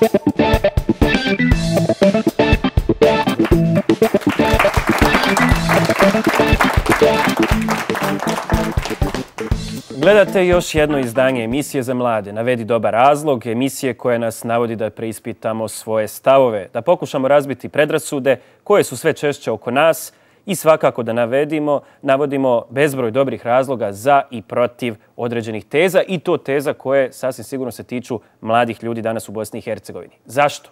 Gledate još jedno izdanje emisije za mlade. Navedi dobar razlog, emisije koja nas navodi da preispitamo svoje stavove, da pokušamo razbiti predrasude koje su sve češće oko nas i svakako da navodimo bezbroj dobrih razloga za i protiv određenih teza i to teza koje sasvim sigurno se tiču mladih ljudi danas u Bosni i Hercegovini. Zašto?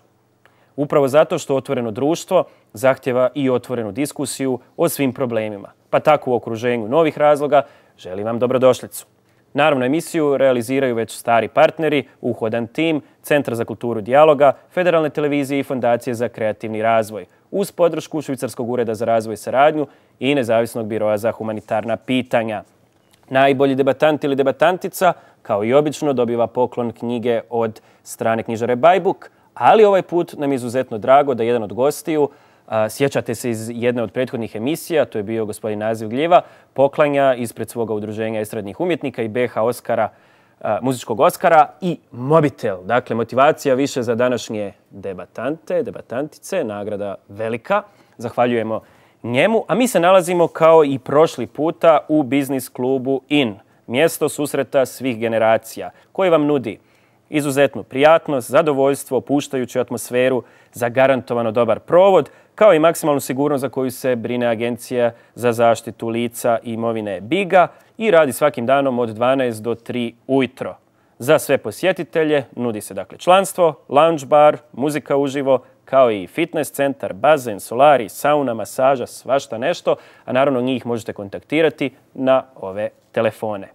Upravo zato što otvoreno društvo zahtjeva i otvorenu diskusiju o svim problemima. Pa tako u okruženju novih razloga želim vam dobrodošlicu. Naravno, emisiju realiziraju već stari partneri, uhodan tim, Centra za kulturu dijaloga, Federalne televizije i Fondacije za kreativni razvoj, uz podršku Švicarskog ureda za razvoj i saradnju i Nezavisnog biroa za humanitarna pitanja. Najbolji debatant ili debatantica, kao i obično, dobiva poklon knjige od strane knjižare Bajbuk, ali ovaj put nam je izuzetno drago da jedan od gostiju, sjećate se iz jedne od prethodnih emisija, to je bio gospodin Naziv Gljiva, poklanja ispred svoga udruženja estradnih umjetnika i BH Oskara, muzičkog Oskara i mobitel. Dakle, motivacija više za današnje debatantice, nagrada velika. Zahvaljujemo njemu. A mi se nalazimo kao i prošli puta u biznis klubu IN, mjesto susreta svih generacija, koji vam nudi izuzetnu prijatnost, zadovoljstvo, opuštajuću atmosferu, zagarantovano dobar provod, kao i maksimalnu sigurnost za koju se brine Agencija za zaštitu lica i imovine BIGA i radi svakim danom od 12 do 3 ujutro. Za sve posjetitelje nudi se dakle članstvo, lounge bar, muzika uživo, kao i fitness centar, bazen, solari, sauna, masaža, svašta nešto, a naravno njih možete kontaktirati na ove telefone.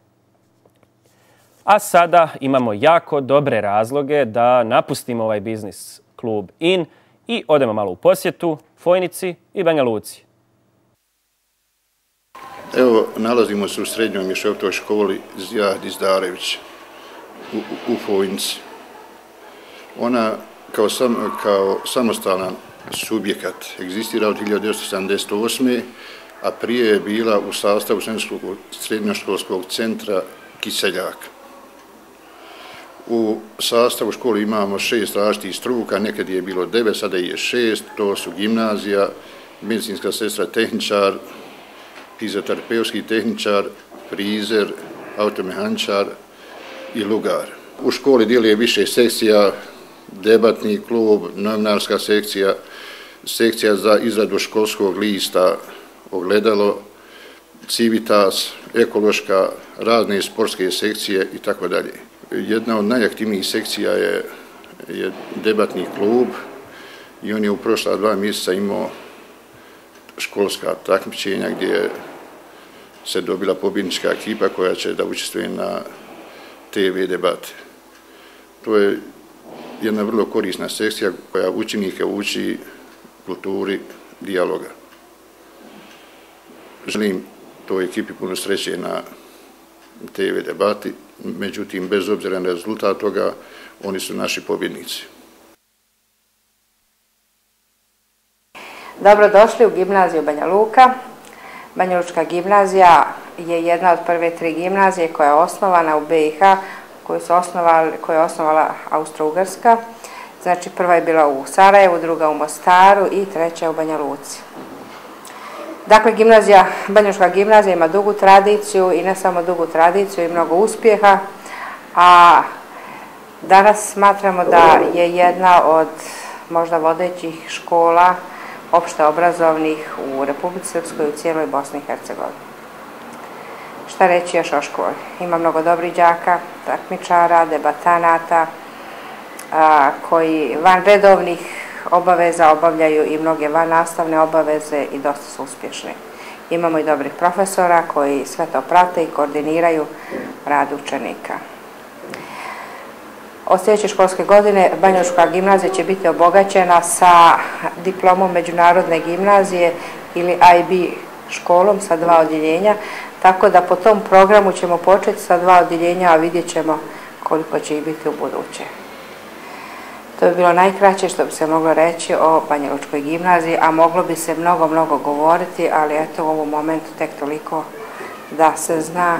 A sada imamo jako dobre razloge da napustimo ovaj biznis klub IN i odemo malo u posjetu Fojnici i Banja Luci. Evo, nalazimo se u srednjoj mješovitoj školi Zijad Izdarević u Fojnici. Ona kao samostalan subjekat egzistira od 1978. a prije je bila u sastavu srednjoškolskog centra Kiseljak. U sastavu škole imamo 6 različitih struka, nekad je bilo 9, sada je 6, to su gimnazija, medicinska sestra tehničar, fizioterapeutski tehničar, frizer, automehaničar i lugar. U školi djeluje više sekcija, debatni klub, novinarska sekcija, sekcija za izradu školskog lista, ogledalo, civitas, ekološka, razne sportske sekcije itd. Jedna od najaktivnijih sekcija je debatni klub i on je u prošla 2 mjeseca imao školska takmičenja gdje se dobila pobjednička ekipa koja će da učestvuje na TV debate. To je jedna vrlo korisna sekcija koja učenike uči kulturi dijaloga. Želim toj ekipi puno sreće na TV debati, međutim, bez obzira na rezultat toga, oni su naši pobjednici. Dobrodošli u gimnaziju Banja Luka. Banja Lučka gimnazija je jedna od prve 3 gimnazije koja je osnovana u BiH, koju je osnovala Austro-Ugarska. Znači, prva je bila u Sarajevu, druga u Mostaru i treća u Banja Luci. Dakle, Banja Lučka gimnazija ima dugu tradiciju i ne samo dugu tradiciju i mnogo uspjeha, a danas smatramo da je jedna od možda vodećih škola opšte obrazovnih u Republici Srpskoj i u cijeloj Bosni i Hercegovini. Šta reći još o školi? Ima mnogo dobrih đaka, takmičara, debatanata, koji van redovnih obaveza obavljaju i mnoge van nastavne obaveze i dosta su uspješni. Imamo i dobrih profesora koji sve to prate i koordiniraju rad učenika. Od sljedeće školske godine Banja Lučka gimnazija će biti obogaćena sa diplomom međunarodne gimnazije ili IB školom sa 2 odjeljenja, tako da po tom programu ćemo početi sa 2 odjeljenja, a vidjet ćemo koliko će ih biti u buduće. To bi bilo najkraće što bi se moglo reći o Banja Lučkoj gimnaziji, a moglo bi se mnogo govoriti, ali eto u ovom momentu tek toliko da se zna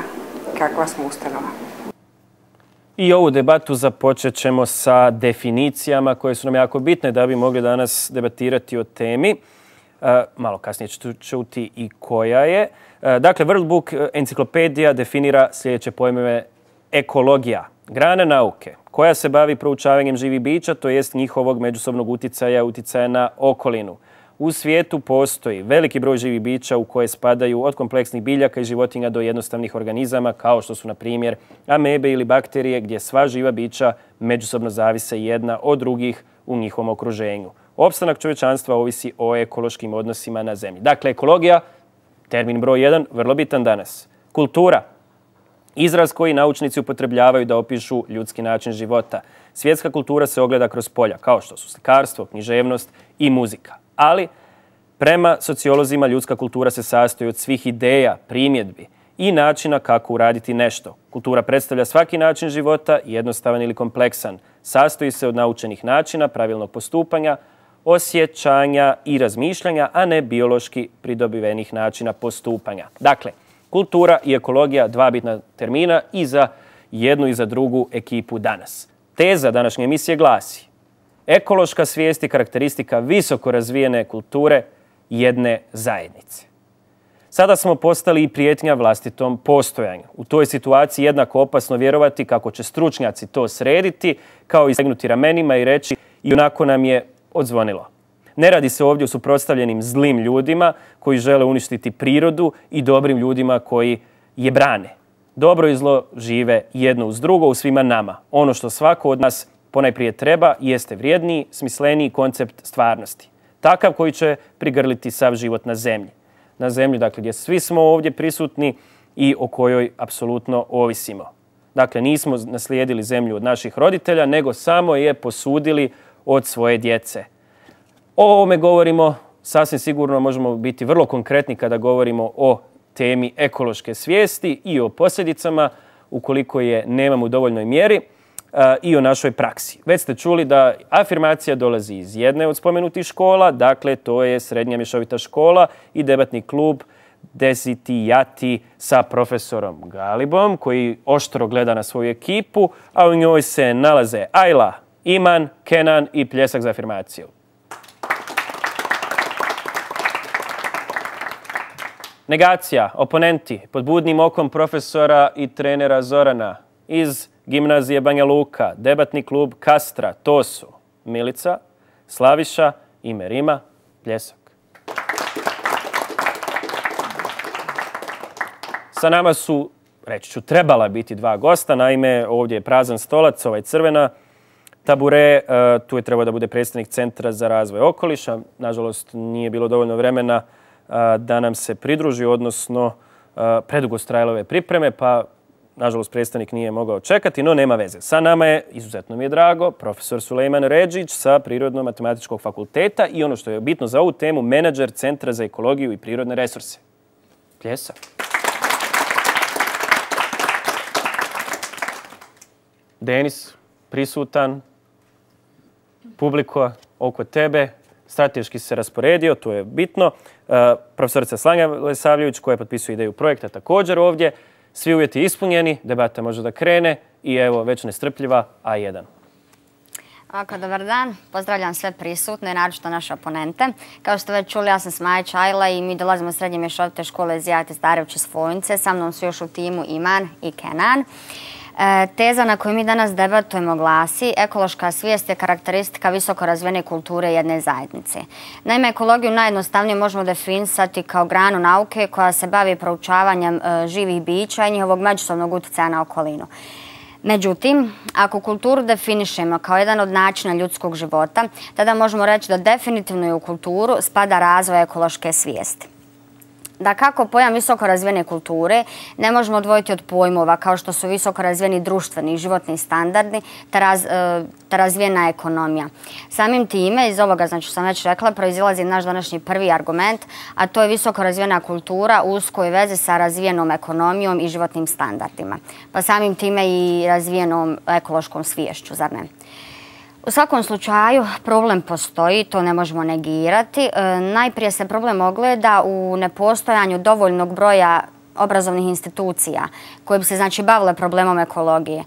kakva smo ustanova. I ovu debatu započet ćemo sa definicijama koje su nam jako bitne da bi mogli danas debatirati o temi. Malo kasnije ću čuti i koja je. Dakle, World Book enciklopedija definira sljedeće pojmove: ekologija, grana nauke koja se bavi proučavanjem živih bića, to jest njihovog međusobnog uticaja na okolinu. U svijetu postoji veliki broj živih bića u koje spadaju od kompleksnih biljaka i životinja do jednostavnih organizama kao što su, na primjer, amebe ili bakterije, gdje sva živa bića međusobno zavise jedna od drugih u njihovom okruženju. Opstanak čovječanstva ovisi o ekološkim odnosima na zemlji. Dakle, ekologija, termin broj 1, vrlo bitan danas. Kultura, izraz koji naučnici upotrebljavaju da opišu ljudski način života. Svjetska kultura se ogleda kroz polja, kao što su slikarstvo, književnost i muzika. Ali, prema sociolozima, ljudska kultura se sastoji od svih ideja, primjedbi i načina kako uraditi nešto. Kultura predstavlja svaki način života, jednostavan ili kompleksan. Sastoji se od naučenih načina, pravilnog postupanja, osjećanja i razmišljanja, a ne biološki pridobivenih načina postupanja. Dakle, kultura i ekologija, dva bitna termina i za jednu i za drugu ekipu danas. Teza današnje emisije glasi: ekološka svijest je karakteristika visoko razvijene kulture jedne zajednice. Sada smo postali i prijetnja vlastitom postojanju. U toj situaciji jednako opasno vjerovati kako će stručnjaci to srediti, kao i stegnuti ramenima i reći ionako nam je odzvonilo. Ne radi se ovdje o suprotstavljenim zlim ljudima koji žele uništiti prirodu i dobrim ljudima koji je brane. Dobro i zlo žive jedno uz drugo u svima nama. Ono što svako od nas ponajprije treba jeste vrijedniji, smisleniji koncept stvarnosti. Takav koji će prigrliti sav život na zemlji. Na zemlji, dakle, gdje svi smo ovdje prisutni i o kojoj apsolutno ovisimo. Dakle, nismo naslijedili zemlju od naših roditelja, nego samo je posudili od svoje djece. O ovome govorimo, sasvim sigurno možemo biti vrlo konkretni kada govorimo o temi ekološke svijesti i o posljedicama ukoliko je nemamo u dovoljnoj mjeri, i o našoj praksi. Već ste čuli da afirmacija dolazi iz jedne od spomenutih škola, dakle to je Srednja mješovita škola i debatni klub Desitijati sa profesorom Galibom, koji oštro gleda na svoju ekipu, a u njoj se nalaze Ajla, Iman, Kenan i pljesak za afirmaciju. Negacija, oponenti, pod budnim okom profesora i trenera Zorana iz Gimnazije Banja Luka, debatni klub Kastra, to su Milica, Slaviša i Merima, pljesak. Sa nama su, reći ću, trebala biti dva gosta, naime ovdje je prazan stolac, ovaj crvena tabure, tu je trebao da bude predstavnik Centra za razvoj okoliša, nažalost nije bilo dovoljno vremena da nam se pridruži, odnosno predugo su trajale ove pripreme, pa nažalost predstavnik nije mogao čekati, no nema veze. Sa nama je, izuzetno mi je drago, profesor Sulejman Redžić sa Prirodno-matematičkog fakulteta i ono što je bitno za ovu temu, menadžer Centra za ekologiju i prirodne resurse. Pljesak. Denis, prisutan, publika oko tebe, strateški se rasporedio, to je bitno. Profesorica Slanja Lesavljević koja potpisuje ideju projekta također ovdje. Svi uvjeti ispunjeni, debata može da krene i evo već nestrpljiva A1. Ovako, dobar dan. Pozdravljam sve prisutne, naročito naše oponente. Kao što već čuli, ja sam Smaja Čajla i mi dolazimo od Srednje mješovite škole Zijate Starević iz Fojnice. Sa mnom su još u timu Iman i Kenan. Teza na koju mi danas debatujemo glasi: ekološka svijest je karakteristika visoko razvijene kulture jedne zajednice. Naime, ekologiju najjednostavnije možemo definisati kao granu nauke koja se bavi proučavanjem živih bića i njihovog međusobnog utjecaja na okolinu. Međutim, ako kulturu definišemo kao jedan od načina ljudskog života, tada možemo reći da definitivno i u kulturu spada razvoj ekološke svijesti. Da kako pojam visoko razvijene kulture ne možemo odvojiti od pojmova kao što su visoko razvijeni društveni i životni standardi te razvijena ekonomija. Samim time, iz ovoga, znači što sam već rekla, proizilazi naš današnji prvi argument, a to je visoko razvijena kultura u uskoj vezi sa razvijenom ekonomijom i životnim standardima. Pa samim time i razvijenom ekološkom sviješću, zar ne? U svakom slučaju problem postoji, to ne možemo negirati. Najprije se problem ogleda u nepostojanju dovoljnog broja obrazovnih institucija koje bi se, znači, bavile problemom ekologije.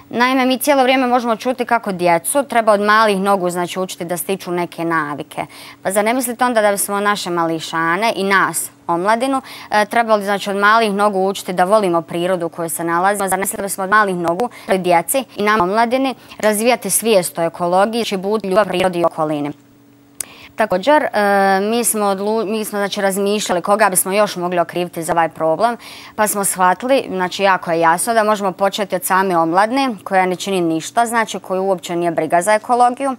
Naime, mi cijelo vrijeme možemo čuti kako djecu treba od malih nogu znači učiti da stiču neke navike. Pa zar ne mislite onda da bismo naše mališane i nas, omladinu, trebali znači od malih nogu učiti da volimo prirodu u kojoj se nalazimo? Zar ne mislite da bismo od malih nogu djeci i nam omladini razvijati svijest o ekologiji i buditi ljubav prirodi i okolini? Također, mi smo znači, razmišljali koga bismo još mogli okriviti za ovaj problem, pa smo shvatili, znači jako je jasno da možemo početi od same omladne koja ne čini ništa, znači koju uopće nije briga za ekologiju.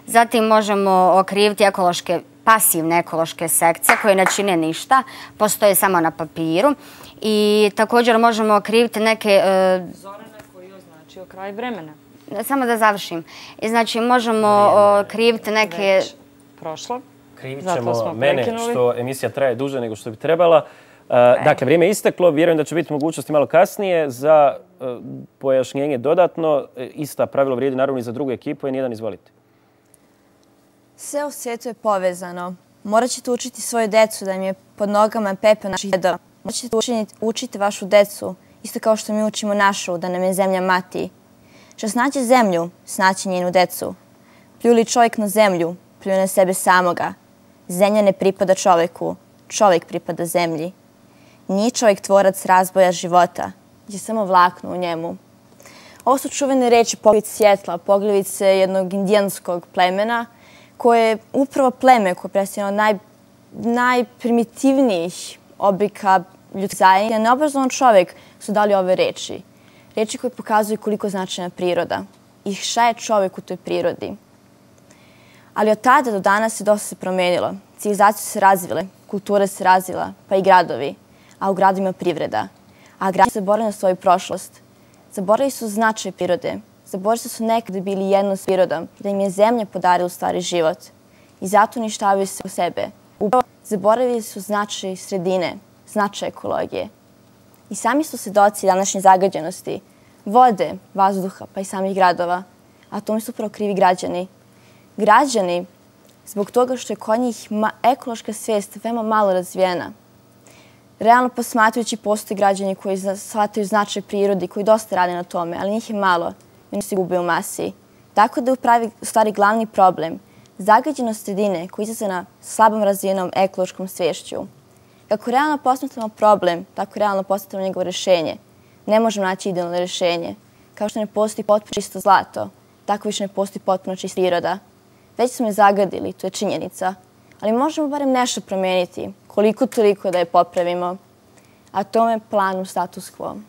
Zatim možemo okriviti pasivne ekološke sekcije koje ne čine ništa, postoje samo na papiru. I također možemo okriviti neke... Zorana koji je označio kraj vremena. Samo da završim. I znači možemo okriviti neke... Prošlo. Krivit ćemo mene što emisija traje duže nego što bi trebala. Dakle, vrijeme je isteklo. Vjerujem da će biti mogućnosti malo kasnije za pojašnjenje dodatno. Ista pravilo vrijedi naravno i za drugu ekipu. N1, izvolite. Sve u svijetu je povezano. Morat ćete učiti svoju decu da im je pod nogama pepeo naših djedova. Morat ćete učiti vašu decu, isto kao što mi učimo našu, da nam je zemlja mati. Što snaće zemlju, snaće njenu decu. Plju li čovjek na zemlju, plju na sebe samoga. Zemlja ne pripada čovjeku, čovjek pripada zemlji. Nije čovjek tvorac razboja života, je samo vlakno u njemu. Ovo su čuvene reči Pogljevice svjetla, Pogljevice jednog indijanskog plemena, koje je upravo pleme koje je predstavljeno najprimitivnijih oblika ljudskih zajednica. Neobrazovan čovjek su dali ove reči. Reči koje pokazuju koliko značajna priroda i šta je čovjek u toj prirodi. Ali od tada do danas se dosta promenilo. Civilizacije se razvile, kultura se razvila, pa i gradovi. A u gradovima privreda. A gradovi se zaboravili na svoju prošlost. Zaboravili su značaj prirode. Zaboravili su nekada bili jedno s prirodom, da im je zemlja podarila u stvari život. I zato uništavaju se u sebe. Upravo zaboravili su značaj sredine, značaj ekologije. I sami su svedoci današnje zagađenosti, vode, vazduha, pa i samih gradova. A tome su upravo krivi građani. Građani, zbog toga što je kod njih ekološka svijest veoma malo razvijena. Realno posmatrajući postoje građani koji shvataju značaj prirodi, koji dosta rade na tome, ali njih je malo i oni se gube u masi. Tako da je u stvari glavni problem zagađenost sredine koja je izazvana slabom razvijenom ekološkom sviješću. Kako realno posmatramo problem, tako realno posmatramo njegovo rješenje. Ne možemo naći idealno rješenje. Kao što ne postoji potpuno čisto zlato, tako više ne postoji potpuno čista priroda. Već smo je zagadili, to je činjenica. Ali možemo barem nešto promijeniti, koliko toliko da je popravimo. A tome je plan u status quo.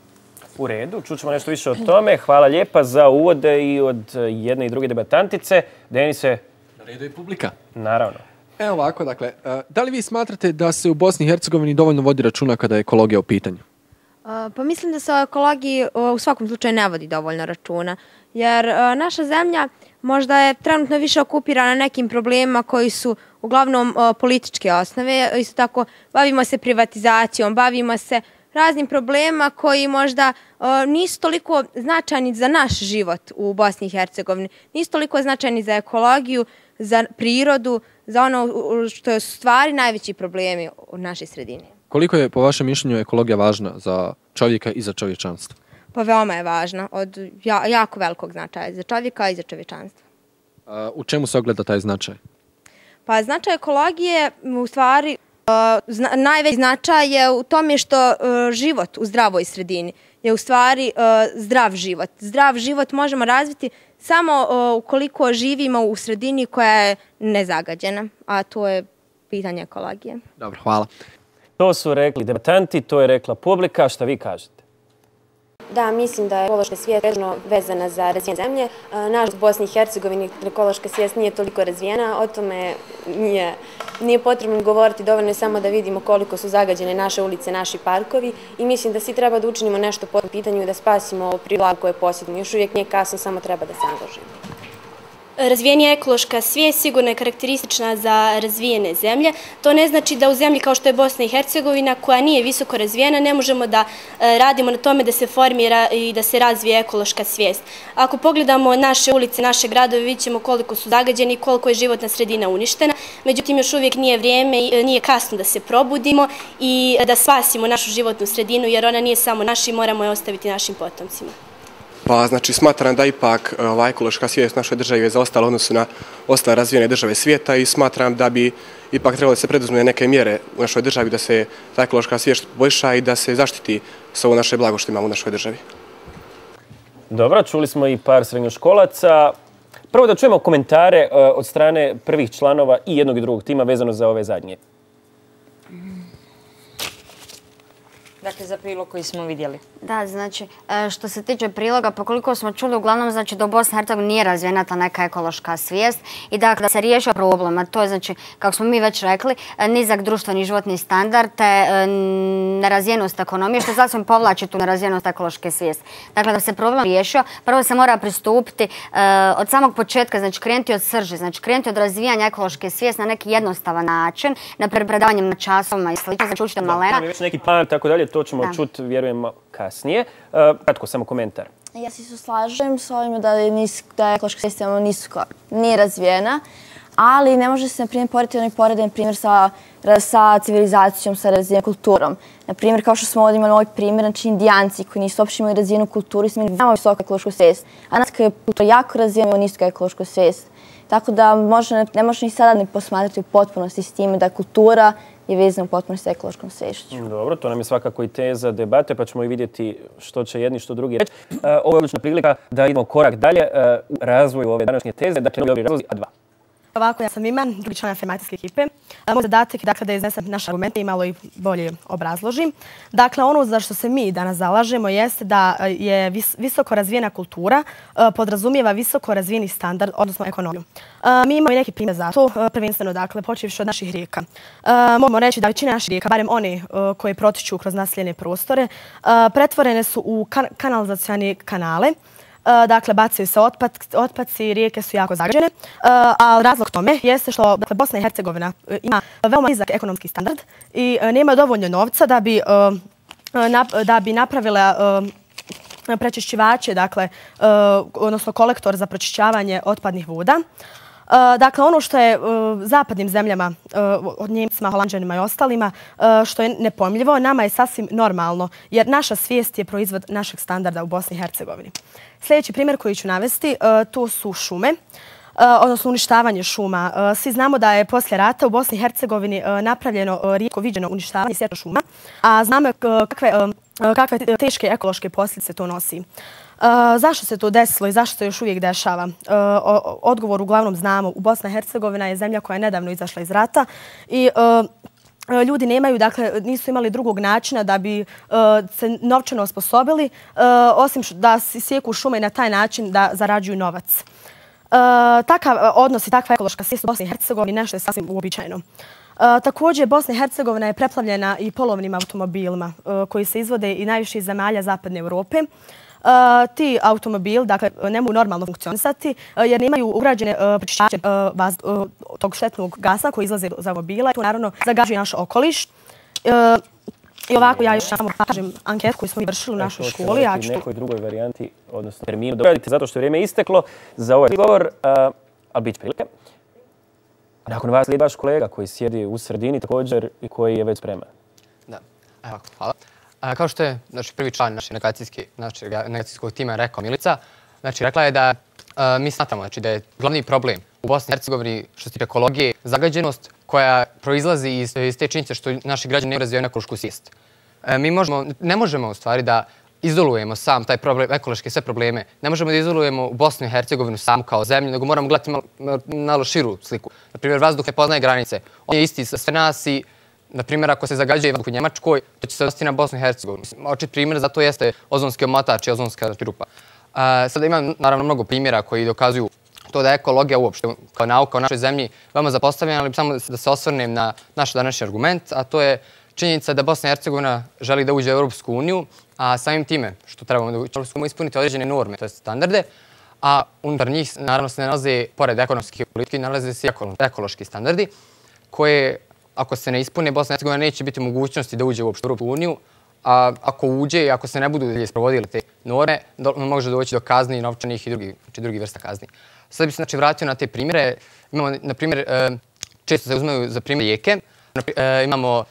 U redu, čućemo nešto više o tome. Hvala lijepa za uvode i od jedne i druge debatantice. Denise. Na redu je publika. Naravno. Evo ovako, dakle, da li vi smatrate da se u Bosni i Hercegovini dovoljno vodi računa kada je ekologija u pitanju? Pa mislim da se o ekologiji u svakom slučaju ne vodi dovoljno računa. Jer naša zemlja možda je trenutno više okupirana nekim problemima koji su uglavnom političke osnove. Isto tako bavimo se privatizacijom, bavimo se raznim problemima koji možda nisu toliko značajni za naš život u Bosni i Hercegovini. Nisu toliko značajni za ekologiju, za prirodu, za ono što je stvari najveći problemi u našoj sredini. Koliko je po vašem mišljenju ekologija važna za čovjeka i za čovječanstvo? Pa veoma je važna, od jako velikog značaja za čovjeka i za čovječanstvo. U čemu se ogleda taj značaj? Pa značaj ekologije u stvari najveći značaj je u tome što život u zdravoj sredini je u stvari zdrav život. Zdrav život možemo razviti samo ukoliko živimo u sredini koja je nezagađena, a to je pitanje ekologije. Dobro, hvala. To su rekli debatanti, to je rekla publika. Šta vi kažete? Da, mislim da je ekološka svijest vezana za razvijene zemlje. Nažalost, u Bosni i Hercegovini ekološka svijest nije toliko razvijena, o tome nije potrebno govoriti, dovoljno je samo da vidimo koliko su zagađene naše ulice, naši parkovi i mislim da svi treba da učinimo nešto po tom pitanju i da spasimo ovu prirodu koju posjedimo. Još uvijek nije kasno, samo treba da se angažujemo. Razvijenija ekološka svijest sigurno je karakteristična za razvijene zemlje. To ne znači da u zemlji kao što je Bosna i Hercegovina, koja nije visoko razvijena, ne možemo da radimo na tome da se formira i da se razvije ekološka svijest. Ako pogledamo naše ulice, naše gradove, vidjet ćemo koliko su zagađeni i koliko je životna sredina uništena. Međutim, još uvijek nije vrijeme i nije kasno da se probudimo i da spasimo našu životnu sredinu, jer ona nije samo naša i moramo je ostaviti našim potomcima. Pa znači smatram da ipak ova ekološka svijest u našoj državi je zaostala u odnosu na ostale razvijene države svijeta i smatram da bi ipak trebalo da se preduzme neke mjere u našoj državi da se ta ekološka svijest poboljša i da se zaštiti s ovo naše blago što imamo u našoj državi. Dobro, čuli smo i par srednjoškolaca. Prvo da čujemo komentare od strane prvih članova i jednog i drugog tima vezano za ove zadnje. Dakle, za prilog koji smo vidjeli. Da, znači, što se tiče priloga, pa koliko smo čuli, uglavnom, znači, da u Bosni i Hercegovini nije razvijena ta neka ekološka svijest i dakle, da se riješio problem, a to je, znači, kako smo mi već rekli, nizak društveni životni standard, te nerazvijenost ekonomije, što sasvim povlači tu nerazvijenost ekološke svijesti. Dakle, da se problem riješio, prvo se mora pristupiti od samog početka, znači, krenuti od srži, znači, krenuti od razvijanja ekološke svijesti na neki jednostavan način, na predavanjem na časovima i slično, znači, učite malena. Već neki plan, tako dalje, to ćemo čuti, vjerujem, kasnije. Kratko, samo komentar. Ja se slažem s ovim da je ekološka svijest nije razvijena, ali ne može se, na primjer, porediti onaj poredan primjer sa civilizacijom, sa razvijenom kulturom. Na primjer, kao što smo ovdje imali ovaj primjer, znači Indijanci koji nisu uopšte imali razvijenu kulturu i su imali veoma visoku ekološku svijest. A nas kada je kultura jako razvijena, imamo nisku ekološku svijest. Tako da ne može ni sada ne posmatrati u potpunosti s time da kultura je vezana u potpunosti sa ekološkom sviješću. Dobro, to nam je svakako i teza debate, pa ćemo i vidjeti što će jedni, što drugi reći. Ovo je odlična prilika da idemo korak dalje u razvoju ove današnje teze. Dakle, novi razlozi, a dva. Ovako, ja sam Iman, drugi član afirmacijske ekipe. Moj zadatak je dakle, da iznesem naše argumente i malo i bolje obrazložim. Dakle, ono za što se mi danas zalažemo jeste da je visoko razvijena kultura podrazumijeva visoko razvijeni standard, odnosno ekonomiju. Mi imamo i neki primjer za to, prvenstveno, dakle, počevši od naših rijeka. Možemo reći da većina naših rijeka, barem one koje protiču kroz naseljene prostore, pretvorene su u kanalizacione kanale. Dakle, bacaju se otpaci, rijeke su jako zagađene, a razlog tome jeste što Bosna i Hercegovina ima veoma nizak ekonomski standard i nema dovoljno novca da bi napravila prečišćivače, odnosno kolektor za pročišćavanje otpadnih voda. Dakle, ono što je zapadnim zemljama, od Njemcima, Holanđanima i ostalima, što je nepojmljivo, nama je sasvim normalno, jer naša svijest je proizvod našeg standarda u Bosni i Hercegovini. Sljedeći primjer koji ću navesti, to su šume, odnosno uništavanje šuma. Svi znamo da je poslije rata u Bosni i Hercegovini napravljeno rijetko viđeno uništavanje sječa šuma, a znamo kakve teške ekološke posljedice to nosi. Zašto se to desilo i zašto se još uvijek dešava? Odgovor uglavnom znamo. U Bosna i Hercegovina je zemlja koja je nedavno izašla iz rata i ljudi nisu imali drugog načina da bi se novčano osposobili, osim da sjeku šume i na taj način da zarađuju novac. Takav odnos i takva ekološka svijest u Bosni i Hercegovini nešto je sasvim uobičajeno. Također, Bosna i Hercegovina je preplavljena i polovnim automobilima koji se izvode i najviše iz zemalja Zapadne Europe. Ti automobili ne mogu normalno funkcionisati jer nemaju ugrađene pročišćivače tog štetnog gasa koji izlaze iz automobila i to naravno zagađuje naš okoliš. I ovako ja još samo kažem anketu koju smo vršili u našoj školi. Ja ću nekoj drugoj varijanti, odnosno terminu, doradite zato što je vrijeme isteklo za ovaj govor, ali bit će prilike. Nakon vas slijedi vaš kolega koji sjedi u sredini također i koji je već spreman. Da, evo, hvala. Kao što je prvi član našeg negacijskog tima rekao Milica, rekla je da mi smatramo da je glavni problem u Bosni i Hercegovini što se tiče ekologije zagađenost koja proizlazi iz te činjenice što naši građani ne razvijaju ekološku svijest. Mi ne možemo u stvari da izolujemo sam taj problem, ekološke sve probleme. Ne možemo da izolujemo Bosnu i Hercegovinu samu kao zemlju, nego moramo gledati malo širu sliku. Naprimjer, vazduh ne poznaje granice. On je isti za sve nas i na primjer, ako se zagađuje vazduh u Njemačkoj, to će se odnositi na Bosnu i Hercegovinu. Očit primjer za to jeste ozonski omotač i ozonska rupa. Sada imam naravno mnogo primjera koji dokazuju to da je ekologija uopšte kao nauka u našoj zemlji veoma zapostavljena, ali samo da se osvrnem na naš današnji argument, a to je činjenica da Bosna i Hercegovina želi da uđe u Europsku uniju, a samim time što trebamo da uđemo ispuniti određene norme, to je standarde, a unutar njih naravno se nalaze, pored ekonomskih politike, nalaze se ekološki standardi koje ako se ne ispune, Bosna i Hercegovina neće biti mogućnosti da uđe uopšte u Europsku uniju, a ako uđe i ako se ne budu dalje sprovodile te norme, može doći do kazni, novčanih i drugih vrsta kazni. Sad bih se vratio na te primjere. Imamo, na primjer, često se uzmaju za primjer rijeke, Imamo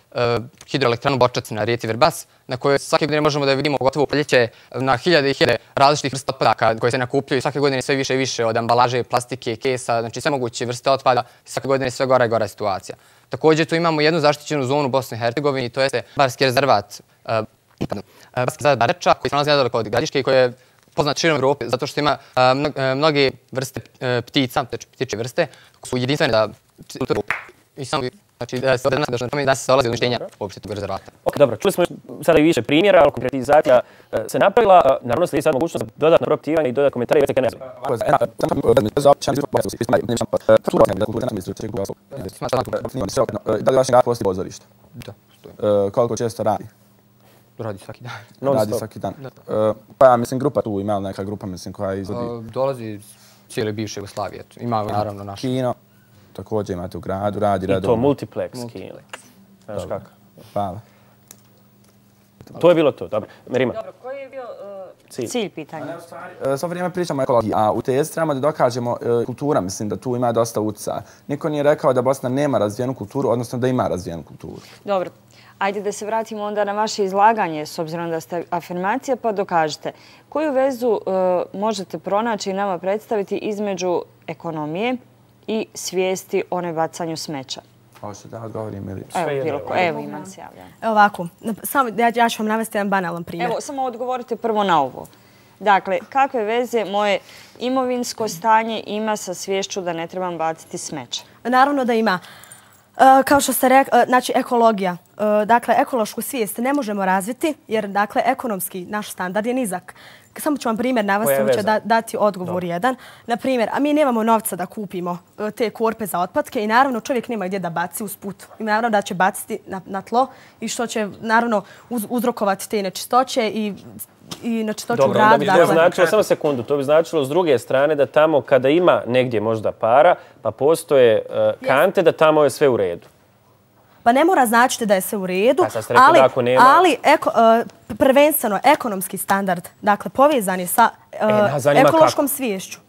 hidroelektranu Borčac na rijeci Vrbas, na kojoj svake godine možemo da vidimo, pogotovo u proljeće, na hiljade i hiljade različitih vrsta otpadaka koje se nakupljaju. Svake godine sve više i više od ambalaže, plastike, kesa, znači sve moguće vrste otpada. Svake godine sve gora i gora situacija. Također tu imamo jednu zaštićenu zonu u Bosni i Hercegovini, to jeste Barski rezervat Bareča, koji se nalazi nedaleko od Gradiške i koji je poznat širom Evrope zato što ima mnoge vrste ptica, ptiče vrste, koje su jedinstvene za cijelu Evropu. I samo znači da se dolazi do uništenja uopšte tog rezervata. Ok, dobro, čuli smo sada i više primjera, ali konkretizacija se napravila. Naravno ste i sad mogućnost za dodatno propitivanje i dodatno komentare i već ne znam. Da li vaš grad postoji pozorište? Da, stoji. Koliko često radi? Radi svaki dan. Radi svaki dan. Pa ja mislim grupa tu, ima li neka grupa mislim koja izvodi? Dolazi iz cijele bivše Jugoslavije. Ima naravno naš. Kino, također imate u gradu, radi redovno. I to multiplex kino. Znaš kako? Hvala. To je bilo to, dobro. Merima. Dobro, koji je bio cilj pitanja? Svo vrijeme pričamo o ekologiji, a u tezi trebamo da dokažemo kultura, mislim da tu ima dosta utjecaja. Niko nije rekao da Bosna nema razvijenu kulturu, odnosno da ima razvijenu kulturu. Dobro. Ajde da se vratimo onda na vaše izlaganje, s obzirom da ste afirmacija, pa dokažete. Koju vezu možete pronaći i nama predstaviti između ekonomije i svijesti o nebacanju smeća? Hoćete da odgovorim ili? Evo imam se javljanje. Ovako, ja ću vam navesti jedan banalan primjer. Evo, samo odgovorite prvo na ovo. Dakle, kakve veze moje imovinsko stanje ima sa sviješću da ne trebam baciti smeće? Naravno da ima. Kao što ste rekli, znači ekologija. Dakle, ekološku svijest ne možemo razviti jer, dakle, ekonomski naš standard je nizak. Samo ću vam primjer navesti, ću dati odgovor jedan. Na primjer, a mi nemamo novca da kupimo te korpe za otpadke i naravno čovjek nema gdje da baci usput. I naravno da će baciti na tlo i što će naravno uzrokovati te nečistoće i nečistoću u gradu. Dobro, to bi značilo, samo sekundu, to bi značilo s druge strane da tamo kada ima negdje možda para, pa postoje kante da tamo je sve u redu. Pa ne mora značiti da je sve u redu, ali prvenstveno ekonomski standard, dakle povezan je sa ekološkom sviješću.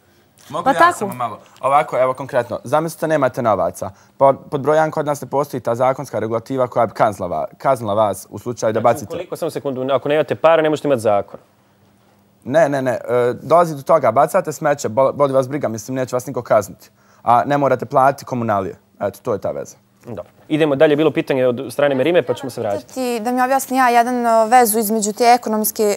Mogu ja samo malo? Ovako, evo konkretno, zamislite nemate novaca. Pod broj 1 kod nas ne postoji ta zakonska regulativa koja bi kaznila vas u slučaju da bacite. Koliko, samo sekundu, ako nemate para ne možete imati zakon. Ne. Dolazi do toga, bacate smeće, boli vas briga, mislim neće vas niko kazniti. A ne morate platiti komunalije. Eto, to je ta veza. Dobro. Idemo dalje, bilo pitanje od strane Merime, pa ćemo se vratiti. Da mi objasni ja jedan vezu između te ekonomske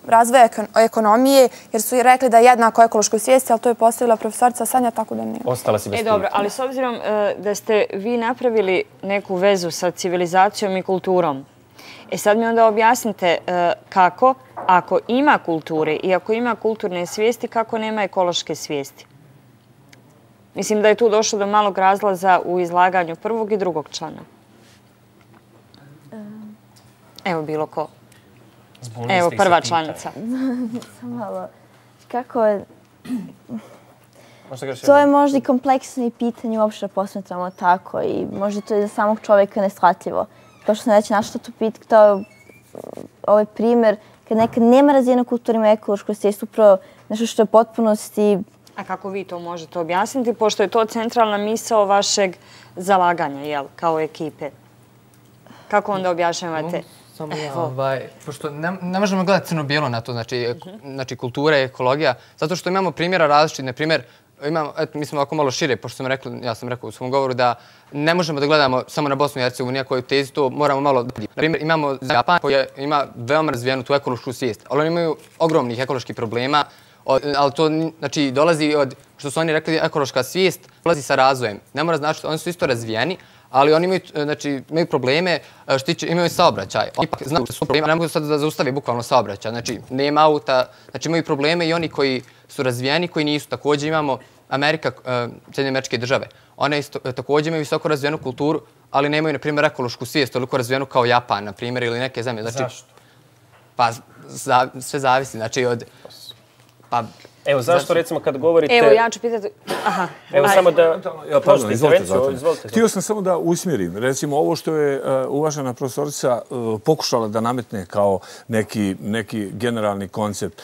razvoja ekonomije, jer su i rekli da je jednako ekološkoj svijesti, ali to je postavila profesorica Sanja, tako da ne. Ostala si bez pitanja. Dobro, ali s obzirom da ste vi napravili neku vezu sa civilizacijom i kulturom, sad mi onda objasnite kako, ako ima kulture i ako ima kulturne svijesti, kako nema ekološke svijesti? Mislim da je tu došlo do malog razlaza u izlaganju prvog i drugog člana. Evo bilo ko. Evo prva članica. Malo. Kako je... To je možda i kompleksno pitanje uopšte da posmetramo tako i možda to je za samog čovjeka neshvatljivo. Kao što sam već našla tu pitao, ovaj primjer, kad nekad nema razvijenu kulturu, ima ekološku svijest, upravo nešto što je potpunosti... A kako vi to možete objasniti, pošto je to centralna misao vašeg zalaganja, jel, kao ekipe? Kako onda objašnjavate? Pošto ne možemo gledati crno-bijelo na to, znači kultura i ekologija, zato što imamo primjera različitih. Na primjer, mi smo ovako malo šire, pošto ja sam rekao u svom govoru da ne možemo da gledamo samo na Bosnu i Hercegovinu, koju tezu to moramo malo... Na primjer, imamo Japan koji ima veoma razvijenu tu ekološku svijest, ali oni imaju ogromnih ekoloških problema, ali to znači dolazi od, što su oni rekli, ekološka svijest dolazi sa razvojem. Ne mora značiti, oni su isto razvijeni, ali oni imaju probleme, imaju saobraćaj. Oni ipak znaju da su problema, ne mogu sad da zaustavi bukvalno saobraćaj. Znači, nema auta, znači imaju probleme i oni koji su razvijeni, koji nisu. Također imamo Amerika, Sjedinjene Američke Države. One također imaju visoko razvijenu kulturu, ali nemaju, na primjer, ekološku svijest, toliko razvijenu kao Japan, na primjer, ili neke zemlje. Zašto? Pa, sve zavisi, znači od... Pa, Evo, zašto recimo kad govorite... Evo, ja ću pitati... Aha. Evo, samo da... Izvolite. Htio sam samo da usmjerim. Recimo, ovo što je uvažena profesorica pokušala da nametne kao neki generalni koncept.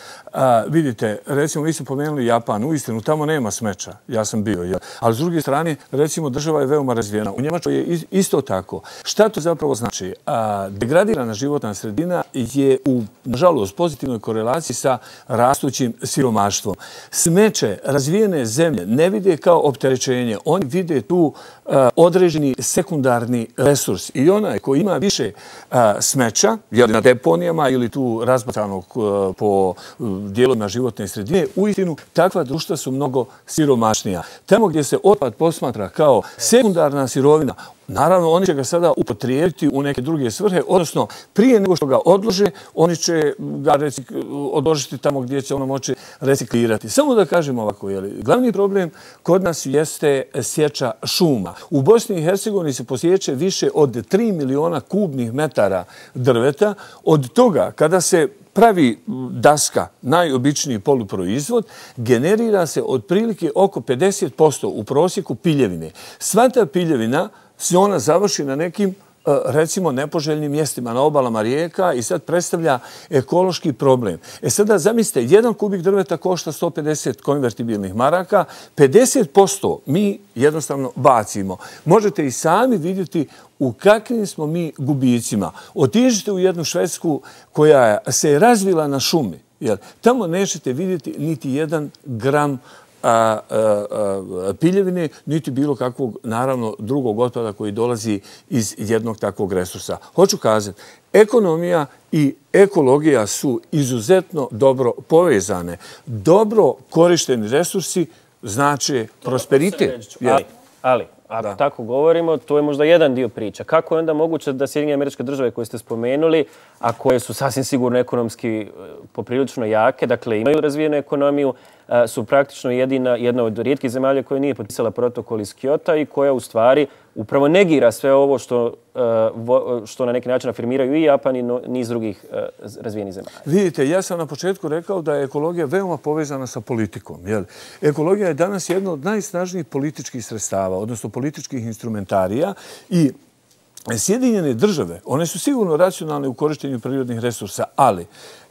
Vidite, recimo, vi ste pomenuli Japan. Uistinu, tamo nema smeća. Ja sam bio. Ali s druge strane, recimo, država je veoma razvijena. U Njemačkoj je isto tako. Šta to zapravo znači? Degradirana životna sredina je u, nažalost, pozitivnoj korelaciji sa rastućim siromaštvom. Smeće razvijene zemlje ne vide kao opterećenje. Oni vide tu određeni sekundarni resurs. I onaj koji ima više smeća, na deponijama ili tu razbacanog po dijelovima životne sredine, uistinu takva društva su mnogo siromašnija. Tamo gdje se otpad posmatra kao sekundarna sirovina, naravno, oni će ga sada upotrijebiti u neke druge svrhe, odnosno prije nego što ga odlože, oni će ga odložiti tamo gdje će ono moći reciklirati. Samo da kažem ovako, glavni problem kod nas jeste sječa šuma. U Bosni i Hercegovini se posječe više od 3 miliona kubnih metara drveta. Od toga, kada se pravi daska, najobičniji poluproizvod, generira se otprilike oko 50% u prosjeku piljevine. Sva ta piljevina se ona završi na nekim, recimo, nepoželjnim mjestima na obalama rijeka i sad predstavlja ekološki problem. Sada zamislite, jedan kubik drveta košta 150 konvertibilnih maraka, 50% mi jednostavno bacimo. Možete i sami vidjeti u kakvim smo mi gubicima. Otiđite u jednu Švedsku koja se je razvila na šumi. Tamo nećete vidjeti niti jedan gram piljevine, niti bilo kakvog, naravno, drugog otpada koji dolazi iz jednog takvog resursa. Hoću kazati, ekonomija i ekologija su izuzetno dobro povezane. Dobro korišteni resursi znače prosperitet. Ali, ako tako govorimo, to je možda jedan dio priča. Kako je onda moguće da Sjedinjene Američke Države koje ste spomenuli, a koje su sasvim sigurno ekonomski poprilično jake, dakle imaju razvijenu ekonomiju, su praktično jedna od rijetkih zemalja koja nije potpisala protokol iz Kyota i koja u stvari upravo negira sve ovo što na neki način afirmiraju i Japan i niz drugih razvijenih zemalja. Vidite, ja sam na početku rekao da je ekologija veoma povezana sa politikom. Ekologija je danas jedno od najsnažnijih političkih sredstava, odnosno političkih instrumentarija i Sjedinjene Države, one su sigurno racionalne u korištenju prirodnih resursa, ali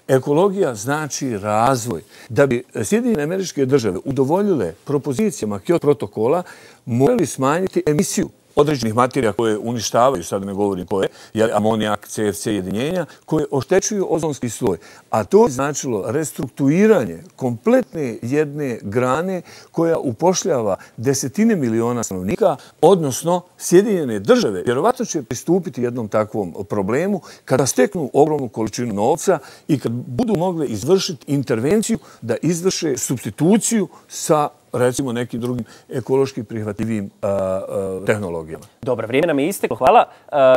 ekologija znači razvoj. Da bi Sjedinjene Američke Države udovoljile propozicijama Kyoto protokola, morali smanjiti emisiju određenih materija koje uništavaju, sad ne govorim koje, amonijak, CFC jedinjenja, koje oštećuju ozonski sloj. A to je značilo restrukturiranje kompletne jedne grane koja upošljava desetine miliona stanovnika, odnosno Sjedinjene Države. Vjerovatno će pristupiti jednom takvom problemu kada steknu ogromnu količinu novca i kad budu mogle izvršiti intervenciju da izvrše supstituciju sa recimo nekim drugim ekološki prihvatljivim tehnologijama. Dobro, vrijeme nam je isteklo. Hvala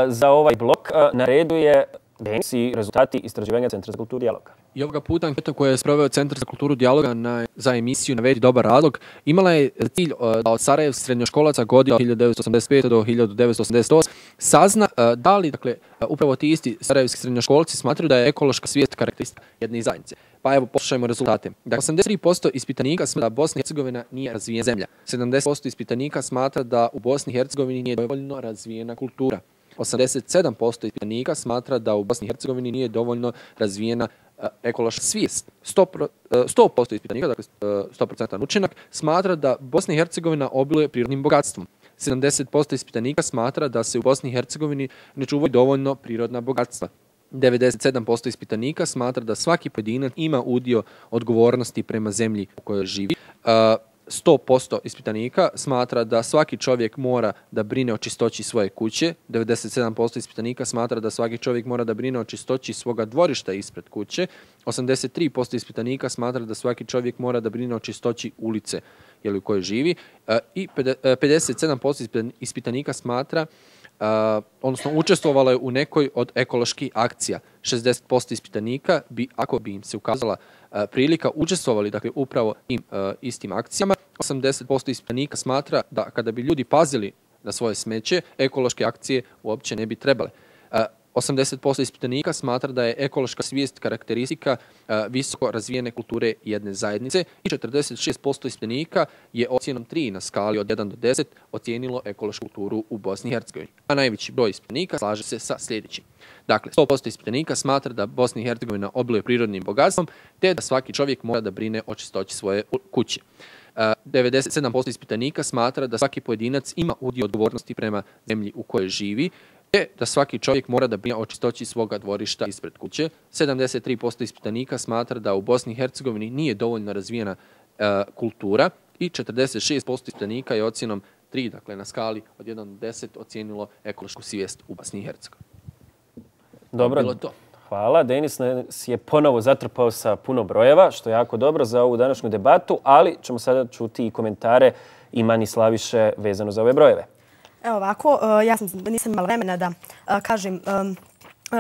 za ovaj blok. Na redu je Denis i rezultati istraživanja Centra za kulturu dijaloga. I ovoga puta anketa koja je sproveo Centar za kulturu dijaloga za emisiju Navedi dobar razlog imala je cilj da od sarajevskih srednjoškolaca godina od 1985. do 1988 sazna da li, dakle, upravo ti isti sarajevski srednjoškolci smatraju da je ekološka svijest karakteristika jedne zajednice. Pa evo, poslušajmo rezultate. Dakle, 83% ispitanika smatra da Bosna i Hercegovina nije razvijena zemlja. 70% ispitanika smatra da u Bosni i Hercegovini nije dovoljno razvijena kultura. 87% ispitanika smatra da u Bosni i Hercegovini nije dovoljno razvijena ekološka svijest. 100% ispitanika, dakle 100% učinak, smatra da Bosna i Hercegovina obiluje prirodnim bogatstvom. 70% ispitanika smatra da se u Bosni i Hercegovini ne čuvaju dovoljno prirodna bogatstva. 97% ispitanika smatra da svaki pojedinac ima udio odgovornosti prema zemlji u kojoj živi. 100% ispitanika smatra da svaki čovjek mora da brine o čistoći svoje kuće. 97% ispitanika smatra da svaki čovjek mora da brine o čistoći svoga dvorišta ispred kuće. 83% ispitanika smatra da svaki čovjek mora da brine o čistoći ulice u kojoj živi. I 57% ispitanika smatra odnosno učestvovalo je u nekoj od ekoloških akcija. 60% ispitanika bi, ako bi im se ukazala prilika, učestvovali, dakle, upravo tim istim akcijama. 80% ispitanika smatra da kada bi ljudi pazili na svoje smeće, ekološke akcije uopće ne bi trebale. 80% ispitanika smatra da je ekološka svijest karakteristika visoko razvijene kulture jedne zajednice i 46% ispitanika je ocjenom 3 na skali od 1 do 10 ocijenilo ekološku kulturu u Bosni i Hercegovini. A najveći broj ispitanika slaže se sa sljedećim. Dakle, 100% ispitanika smatra da Bosna i Hercegovina obiluje prirodnim bogatstvom, te da svaki čovjek mora da brine o čistoći svoje kuće. 97% ispitanika smatra da svaki pojedinac ima udio odgovornosti prema zemlji u kojoj živi, te da svaki čovjek mora da brine o čistoći svoga dvorišta ispred kuće. 73% ispitanika smatra da u Bosni i Hercegovini nije dovoljno razvijena kultura i 46% ispitanika je ocjenom 3, dakle na skali od 1 do 10, ocijenilo ekološku svijest u Bosni i Hercegovini. Dobro, bilo to. Hvala. Denis nas je ponovo zatrpao sa puno brojeva, što je jako dobro za ovu današnju debatu, ali ćemo sada čuti i komentare Imani Slaviše vezano za ove brojeve. Evo ovako, ja nisam imala vremena da kažem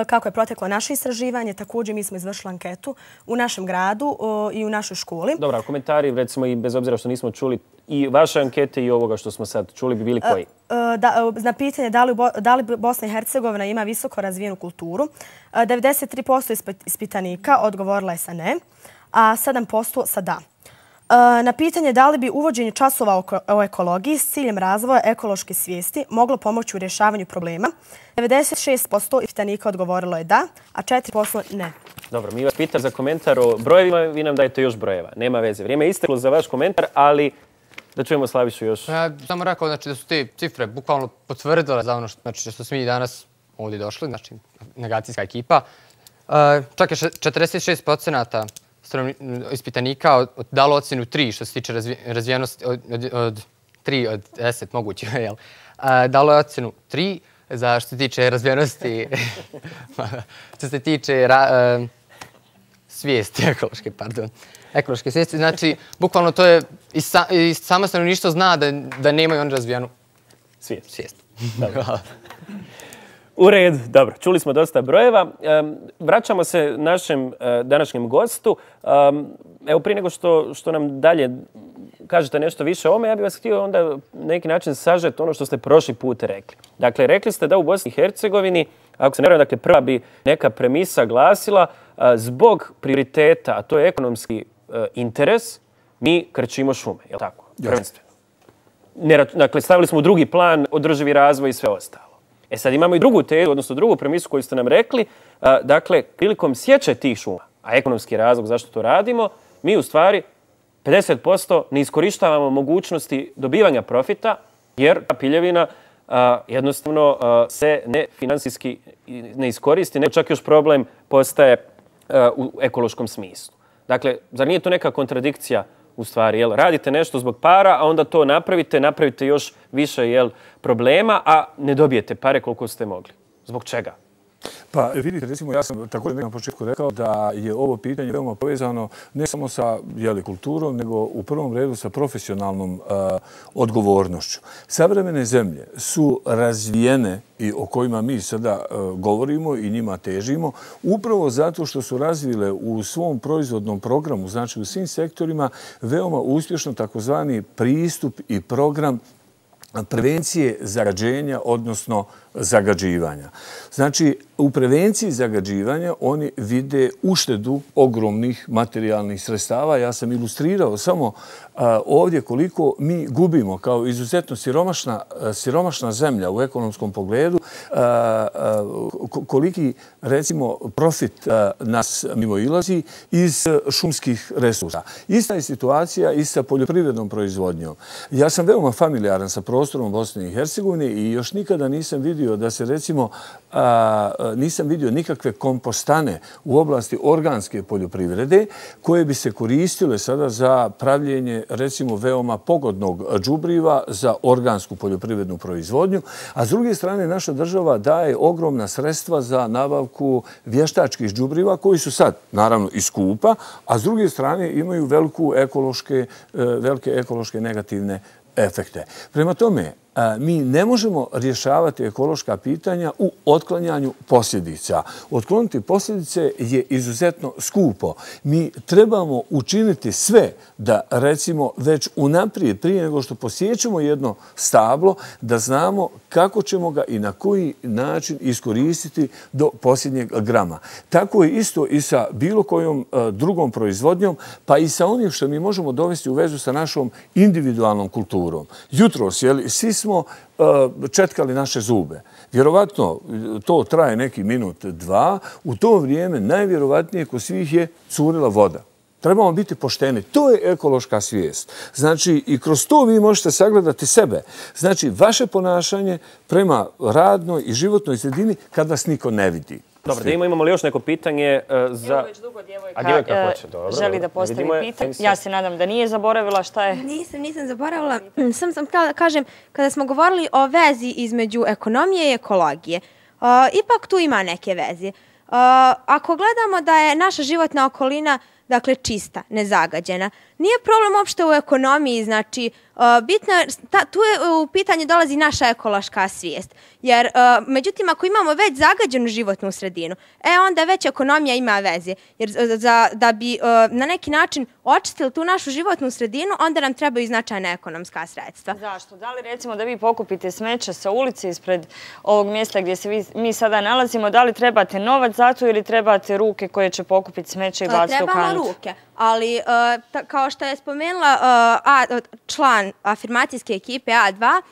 kako je proteklo naše istraživanje. Također mi smo izvršili anketu u našem gradu i u našoj školi. Dobro, komentari, recimo i bez obzira što nismo čuli i vaše ankete i ovoga što smo sad čuli bi bili koji? Na pitanje da li Bosna i Hercegovina ima visoko razvijenu kulturu, 93% ispitanika odgovorila je sa ne, a 7% sa da. Na pitanje da li bi uvođenje časova o ekologiji s ciljem razvoja ekološke svijesti moglo pomoći u rješavanju problema, 96% ispitanika odgovorilo je da, a 4% ne. Dobro, mi vas pitam za komentar o brojevima, vi nam dajete još brojeva. Nema veze. Vrijeme je isteklo za vaš komentar, ali da čujemo Slavišu još. Ja samo rekao da su te cifre bukvalno potvrdile za ono što smo mi danas ovdje došli, znači negacijska ekipa. Čak je 46% ispitanika dalo ocjenu 3 što se tiče razvijenosti od 3 od 10 moguće. Dalo je ocjenu 3 za što se tiče razvijenosti, što se tiče svijesti ekološke, ekološke svijesti. Znači, bukvalno to je i samo stanovništvo zna da nemaju oni razvijenu svijest. U red, dobro, čuli smo dosta brojeva. Vraćamo se našem današnjem gostu. Evo, prije nego što nam dalje kažete nešto više o ovome, ja bih vas htio onda na neki način sažeti ono što ste prošli put rekli. Dakle, rekli ste da u Bosni i Hercegovini, ako se ne varam, dakle, prva bi neka premisa glasila zbog prioriteta, a to je ekonomski interes, mi krčimo šume, je li tako? Prvenstveno. Dakle, stavili smo u drugi plan održivi razvoj i sve ostalo. E sad imamo i drugu tezu, odnosno drugu premisu koju ste nam rekli. Dakle, prilikom sječe tih šuma, a ekonomski razlog zašto to radimo, mi u stvari 50% ne iskorištavamo mogućnosti dobivanja profita, jer ta piljevina jednostavno se ne finansijski ne iskoristi, nego čak još problem postaje u ekološkom smislu. Dakle, zar nije to neka kontradikcija u stvari? Radite nešto zbog para, a onda to napravite još više problema, a ne dobijete pare koliko ste mogli. Zbog čega? Pa vidite, recimo, ja sam također na početku rekao da je ovo pitanje veoma povezano ne samo sa kulturom, nego u prvom redu sa profesionalnom odgovornošću. Savremene zemlje su razvijene i o kojima mi sada govorimo i njima težimo, upravo zato što su razvile u svom proizvodnom programu, znači u svim sektorima, veoma uspješno takozvani pristup i program prevencije zagađenja, odnosno zagađivanja. Znači, u prevenciji zagađivanja oni vide uštedu ogromnih materijalnih sredstava. Ja sam ilustrirao samo ovdje koliko mi gubimo kao izuzetno siromašna zemlja u ekonomskom pogledu, koliki, recimo, profit nas mimoilazi iz šumskih resursa. Ista je situacija i sa poljoprivrednom proizvodnjom. Ja sam veoma familijaran sa prostorom Bosne i Hercegovine i još nikada nisam vidio da se, recimo, nisam vidio nikakve kompostane u oblasti organske poljoprivrede koje bi se koristile sada za pravljenje, recimo, veoma pogodnog đubriva za organsku poljoprivrednu proizvodnju, a s druge strane naša država daje ogromna sredstva za nabavku vještačkih đubriva koji su sad, naravno, i skupa, a s druge strane imaju velike ekološke negativne efekte. Prema tome, mi ne možemo rješavati ekološka pitanja u otklanjanju posljedica. Otkloniti posljedice je izuzetno skupo. Mi trebamo učiniti sve da, recimo, već unaprijed, prije nego što posjećemo jedno stablo, da znamo kako ćemo ga i na koji način iskoristiti do posljednjeg grama. Tako je isto i sa bilo kojom drugom proizvodnjom, pa i sa onim što mi možemo dovesti u vezu sa našom individualnom kulturom. Jutros, svi smo četkali naše zube. Vjerovatno to traje neki minut, dva. U to vrijeme najvjerovatnije kod svih je curila voda. Trebamo biti pošteni. To je ekološka svijest. Znači, i kroz to vi možete sagledati sebe. Znači, vaše ponašanje prema radnoj i životnoj sredini kad vas niko ne vidi. Dobro, imamo li još neko pitanje za... Evo već dugo djevojka želi da postavi pitanje. Ja se nadam da nije zaboravila šta je. Nisam zaboravila. Sam htjela da kažem, kada smo govorili o vezi između ekonomije i ekologije, ipak tu ima neke veze. Ako gledamo da je naša životna okolina dakle čista, nezagađena. Nije problem uopšte u ekonomiji, znači bitno je, tu je u pitanje dolazi naša ekološka svijest. Jer, međutim, ako imamo već zagađenu životnu sredinu, onda već ekonomija ima veze. Jer da bi na neki način očistili tu našu životnu sredinu, onda nam trebaju značajna ekonomska sredstva. Zašto? Da li recimo da vi pokupite smeće sa ulice ispred ovog mjesta gdje se mi sada nalazimo, da li trebate novac za to ili trebate ruke koje će pokupiti smeće i baciti u kantu? Trebamo ruke, ali kao što je spomenula član afirmacijske ekipe A2,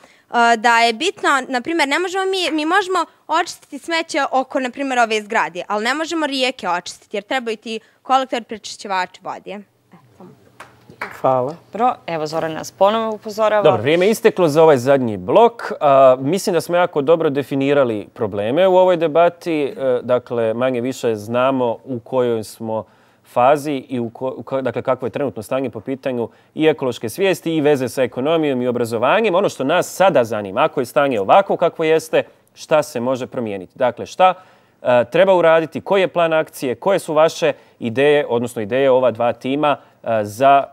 da je bitno, na primjer, ne možemo mi možemo očistiti smeće oko, na primjer, ove zgrade, ali ne možemo rijeke očistiti, jer trebaju ti kolektor prečišćivači vode. Hvala. Evo, Zoran nas ponovo upozorava. Dobro, vrijeme je isteklo za ovaj zadnji blok. Mislim da smo jako dobro definirali probleme u ovoj debati. Dakle, manje više znamo u kojoj smo fazi i dakle, kakvo je trenutno stanje po pitanju i ekološke svijesti i veze sa ekonomijom i obrazovanjem. Ono što nas sada zanima, ako je stanje ovako kakvo jeste, šta se može promijeniti? Dakle, šta treba uraditi, koji je plan akcije, koje su vaše ideje, odnosno ideje ova dva tima za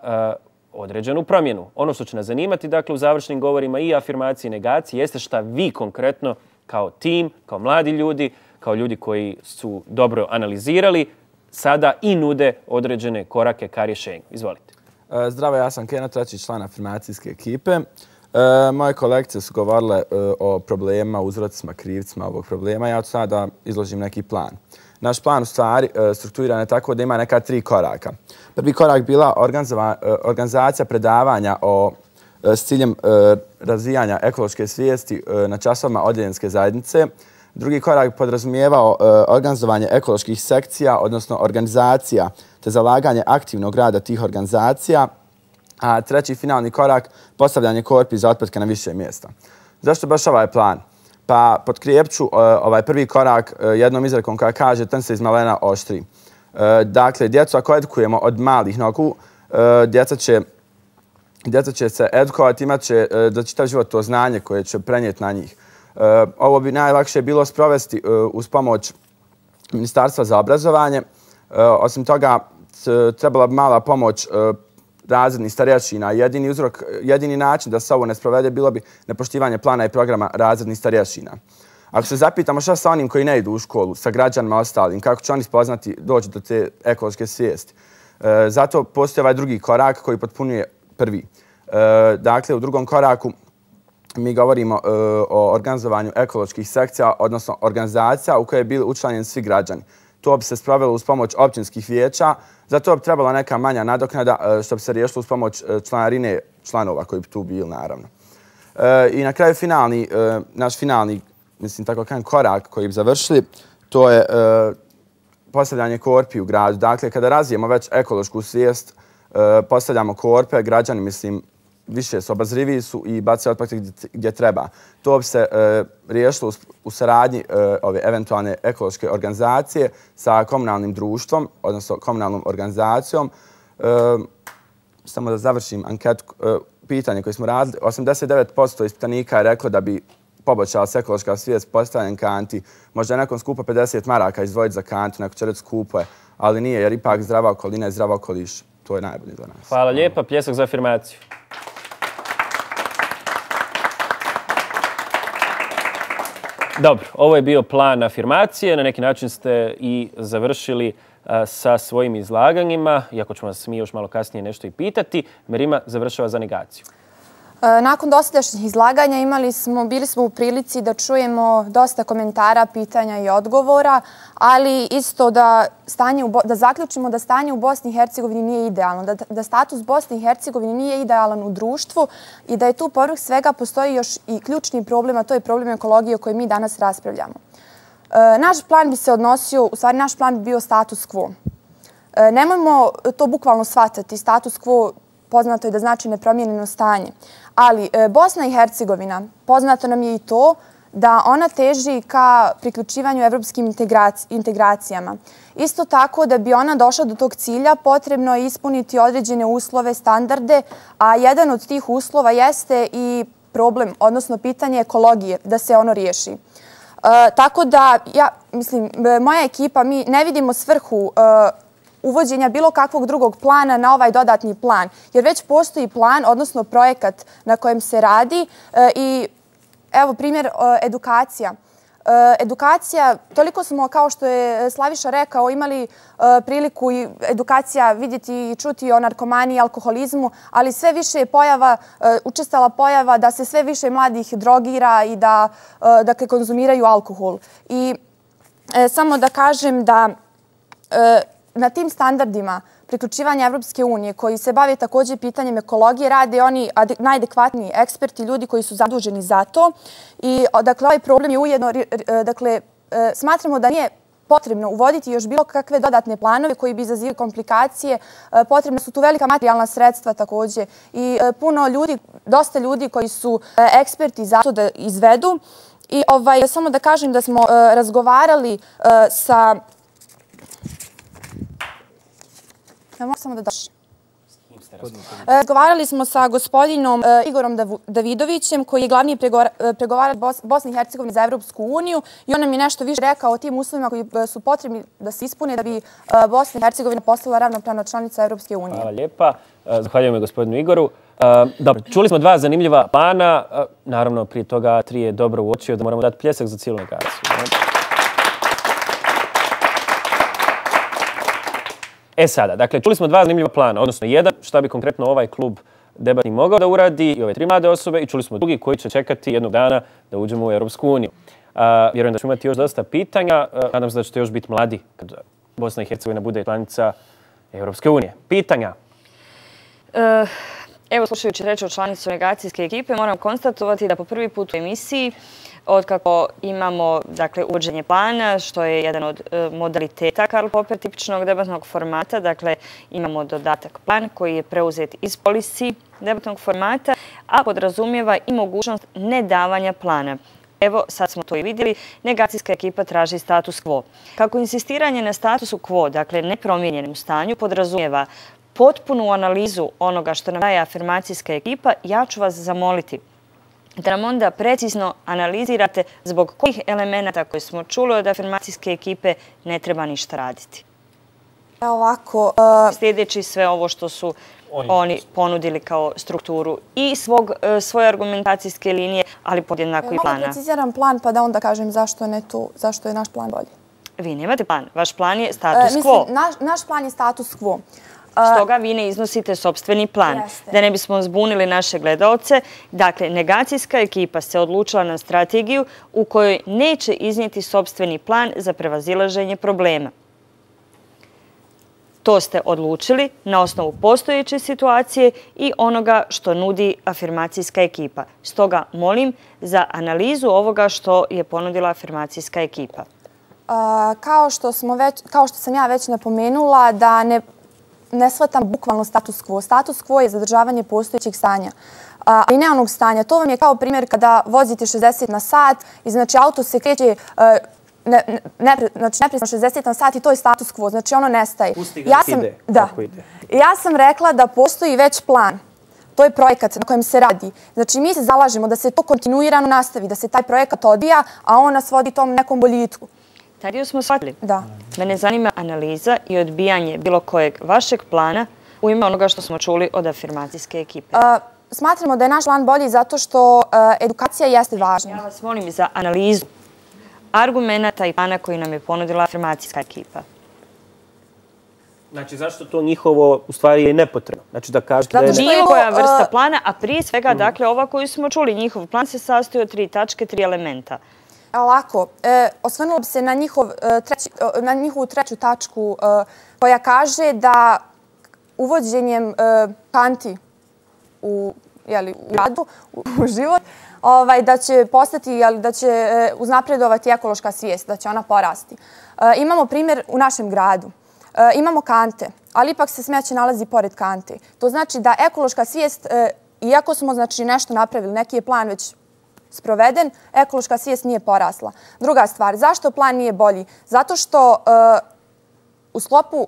određenu promjenu. Ono što će nas zanimati, dakle, u završnim govorima i afirmacije i negacije, jeste šta vi konkretno kao tim, kao mladi ljudi, kao ljudi koji su dobro analizirali, sada i nude određene korake ka rješenju. Izvolite. Zdravo, ja sam Keno, treći član afirmacijske ekipe. Moje kolegice su govorile o problemima, uzrocima, krivcima ovog problema. Ja ću sada da izložim neki plan. Naš plan u stvari strukturiran je tako da ima neka 3 koraka. Prvi korak bila organizacija predavanja s ciljem razvijanja ekološke svijesti na časovima odjeljenske zajednice. Drugi korak podrazumijevao organizovanje ekoloških sekcija, odnosno organizacija, te zalaganje aktivnog rada tih organizacija. A treći finalni korak, postavljanje korpi za otpadke na više mjesta. Zašto baš ovaj plan? Pa potkrijepću ovaj prvi korak jednom izrekom koja kaže trn se iz malena oštri. Dakle, djecu ako edukujemo od malih nogu, djeca će se edukovati, imat će za čitav život to znanje koje će prenijeti na njih. Ovo bi najlakše bilo sprovesti uz pomoć Ministarstva za obrazovanje. Osim toga, trebala bi mala pomoć razrednih starješina. Jedini način da se ovo ne sprovede bilo bi nepoštivanje plana i programa razrednih starješina. Ako se zapitamo šta sa onim koji ne idu u školu, sa građanima ostalim, kako će oni spoznati doći do te ekološke svijesti. Zato postoji ovaj drugi korak koji potpunuje prvi. Dakle, u drugom koraku mi govorimo o organizovanju ekoloških sekcija, odnosno organizacija u koje bi bili učlanjeni svi građani. To bi se sprovelo uz pomoć općinskih vijeća, zato bi trebala neka manja nadoknada što bi se riješilo uz pomoć članarine članova koji bi tu bili, naravno. I na kraju naš finalni, mislim tako kažem, korak koji bi završili, to je postavljanje korpi u gradu. Dakle, kada razvijemo već ekološku svijest, postavljamo korpe, građani, mislim, više su obazriviji su i bacaju otpake gdje treba. To bi se riješilo u saradnji ove eventualne ekološke organizacije sa komunalnim društvom, odnosno komunalnom organizacijom. Samo da završim anketu, pitanje koje smo radili. 89% ispitanika je reklo da bi poboljšala se ekološka svijest postavljanjem kanti. Možda je nekom skupo 50 maraka izdvojiti za kantu, neko će reći skupo je, ali nije, jer ipak zdrava okolina je zdrava okoliš. To je najbolje za nas. Hvala lijepa. Pljesak za afirmaciju. Dobro, ovo je bio plan afirmacije. Na neki način ste i završili sa svojim izlaganjima, iako ćemo vas mi još malo kasnije nešto i pitati. Merima završava za negaciju. Nakon dosadašnjih izlaganja bili smo u prilici da čujemo dosta komentara, pitanja i odgovora, ali isto da zaključimo da stanje u Bosni i Hercegovini nije idealno, da status Bosne i Hercegovine nije idealan u društvu i da je tu povrh svega postoji još i ključni problem, a to je problem ekologije o kojoj mi danas raspravljamo. Naš plan bi se odnosio, u stvari naš plan bi bio status quo. Nemojmo to bukvalno shvatati, status quo poznato je da znači nepromijenjeno stanje. Ali Bosna i Hercegovina, poznato nam je i to da ona teži ka priključivanju evropskim integracijama. Isto tako da bi ona došla do tog cilja potrebno je ispuniti određene uslove, standarde, a jedan od tih uslova jeste i problem, odnosno pitanje ekologije, da se ono riješi. Tako da, moja ekipa, mi ne vidimo svrhu uvođenja bilo kakvog drugog plana na ovaj dodatni plan. Jer već postoji plan, odnosno projekat na kojem se radi i evo primjer edukacija. Edukacija, toliko smo, kao što je Slaviša rekao, imali priliku i edukacija vidjeti i čuti o narkomaniji i alkoholizmu, ali sve više je učestala pojava da se sve više mladih drogira i da konzumiraju alkohol. I samo da kažem da na tim standardima priključivanja Evropske unije, koji se bave također pitanjem ekologije, rade oni najadekvatniji eksperti, ljudi koji su zaduženi za to. I dakle, ovaj problem je ujedno, dakle, smatramo da nije potrebno uvoditi još bilo kakve dodatne planove koji bi izazivali komplikacije. Potrebno su tu velika materijalna sredstva također i puno ljudi, dosta ljudi koji su eksperti za to da izvedu. I samo da kažem da smo razgovarali sa... Razgovarali smo sa gospodinom Igorom Davidovićem, koji je glavni pregovarač Bosne i Hercegovine za Evropsku uniju, i on nam je nešto više rekao o tim uslovima koji su potrebni da se ispune da bi Bosna i Hercegovina postala ravnopravna članica Evropske unije. Hvala lijepa. Zahvaljujem gospodinu Igoru. Dobro, čuli smo dva zanimljiva plana. Naravno, prije toga 3 je dobro uočio da moramo dati pljesak za cijelu negaciju. Sada, dakle, čuli smo dva zanimljiva plana, odnosno jedan, šta bi konkretno ovaj klub debatni mogao da uradi i ove 3 mlade osobe, i čuli smo drugi koji će čekati jednog dana da uđemo u Europsku uniju. Vjerujem da ćemo imati još dosta pitanja, nadam se da ćete još biti mladi kad Bosna i Hercegovina bude članica Europske unije. Pitanja? Evo, slušajući reč o članicu negacijske ekipe, moram konstatovati da po prvi put u emisiji, otkako imamo uvođenje plana, što je jedan od modaliteta Karl Popper tipičnog debatnog formata, dakle imamo dodatak plan koji je preuzet iz policy debatnog formata, a podrazumijeva i mogućnost nedavanja plana. Evo, sad smo to i vidjeli, negacijska ekipa traži status quo. Kako insistiranje na statusu quo, dakle nepromijenjenom stanju, podrazumijeva potpunu analizu onoga što nam daje afirmacijska ekipa, ja ću vas zamoliti da nam onda precizno analizirate zbog kojih elemenata koje smo čuli od afirmacijske ekipe ne treba ništa raditi. Sljedeći sve ovo što su oni ponudili kao strukturu i svoje argumentacijske linije, ali podjednako i plana. Mogu preciziram plan pa da onda kažem zašto je naš plan bolji. Vi nemate plan. Vaš plan je status quo. Naš plan je status quo. Stoga vi ne iznosite sopstveni plan. Da ne bismo zbunili naše gledaoce, dakle, negacijska ekipa se odlučila na strategiju u kojoj neće iznijeti sopstveni plan za prevazilaženje problema. To ste odlučili na osnovu postojeće situacije i onoga što nudi afirmacijska ekipa. Stoga molim za analizu ovoga što je ponudila afirmacijska ekipa. Kao što sam ja već napomenula, da ne shvatam bukvalno status quo. Status quo je zadržavanje postojećeg stanja, ali ne onog stanja. To vam je kao primjer kada vozite 60 na sat i znači auto se kreće nepresno 60 na sat i to je status quo. Znači ono nestaje. Ja sam rekla da postoji već plan. To je projekat na kojem se radi. Znači mi se zalažemo da se to kontinuirano nastavi, da se taj projekat odvija, a on nas vodi tom nekom boljitku. Taj dio smo shvatili. Da. Mene zanima analiza i odbijanje bilo kojeg vašeg plana u ime onoga što smo čuli od afirmacijske ekipe. Smatramo da je naš plan bolji zato što edukacija jeste važna. Ja vas molim za analizu argumenta i plana koji nam je ponudila afirmacijska ekipa. Znači, zašto to njihovo u stvari je nepotrebno? Znači, da kažete da je... Bilo koja vrsta plana, a prije svega, dakle, ova koju smo čuli, njihov plan se sastoji od 3 tačke, 3 elementa. Ovako, osvrnula bi se na njihovu treću tačku koja kaže da uvođenjem kanti u radu, u život, da će postati, da će uznapredovati ekološka svijest, da će ona porasti. Imamo primjer u našem gradu. Imamo kante, ali ipak se smeće nalazi pored kante. To znači da ekološka svijest, iako smo nešto napravili, neki je plan već sproveden, ekološka svijest nije porasla. Druga stvar, zašto plan nije bolji? Zato što u sklopu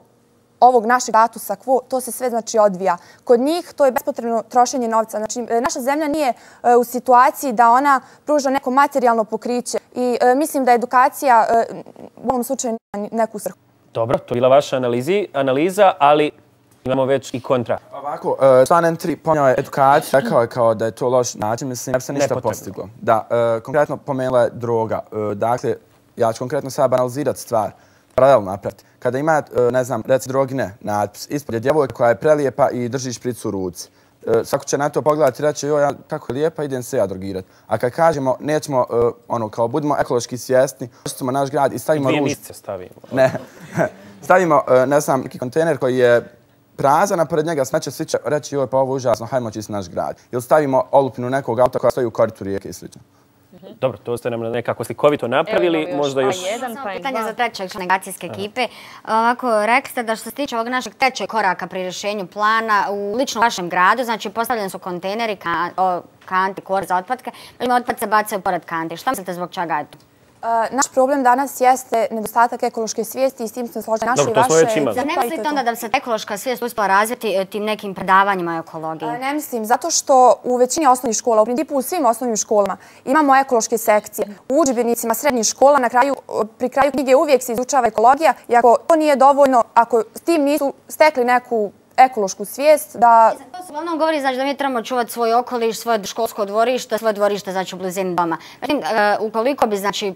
ovog našeg statusa quo, to se sve odvija. Kod njih to je bespotrebno trošenje novca. Znači, naša zemlja nije u situaciji da ona pruža neko materijalno pokriće i mislim da edukacija u ovom slučaju nema neku svrhu. Dobro, to je bila vaša analiza, ali imamo već i kontra. Ovako, član M3 ponio je edukaciju, rekao je kao da je to loš način, mislim, jer se ništa postiglo. Da, konkretno pomenula je droga. Dakle, ja ću konkretno sada banalizirati stvar, paralelno napraviti. Kada ima, ne znam, reci drogine natpis, ispod je djevojka koja je prelijepa i drži špricu u ruci. Svako će na to pogledati i reći, joj, kako je lijepa, idem se ja drogirati. A kad kažemo, nećemo, kao budemo ekološki svjesni, očistimo naš grad i stavimo ruž... 2 mjesece stavimo. Ne, stavimo, ne znam, neki kontejner koji je prazan, a pored njega smeće svi će reći, joj, pa ovo je užasno, hajmo čistiti naš grad. Ili stavimo olupinu nekog auta koja stoji u koritu rijeke i sl. Dobro, to ste nam nekako slikovito napravili. Možda još... Pitanje za trećeg negacijske ekipe. Ovako, rekli ste da što se tiče ovog našeg trećeg koraka pri rješenju plana u ličnom vašem gradu, znači postavljeni su kontejneri, kanti, kor za otpadke, otpad se bacaju pored kanti. Šta mislite zbog čega je to? Naš problem danas jeste nedostatak ekološke svijesti i s tim smo složeni. Dobro, to smo već imali. Zar ne mislite onda da bi se ekološka svijest uspjela razviti tim nekim predavanjima ekologije? Ne mislim, zato što u većini osnovnih škola, u principu u svim osnovnim školama, imamo ekološke sekcije. U udžbenicima srednjih škola pri kraju knjige uvijek se izučava ekologija i ako to nije dovoljno, ako s tim nisu stekli neku ekološku svijest, da... To se uglavnom govori znači da mi trebamo čuvati svoj okoliš, svoje školsko dvorište, svoje dvorište znači u blizini doma. Međutim, ukoliko bi znači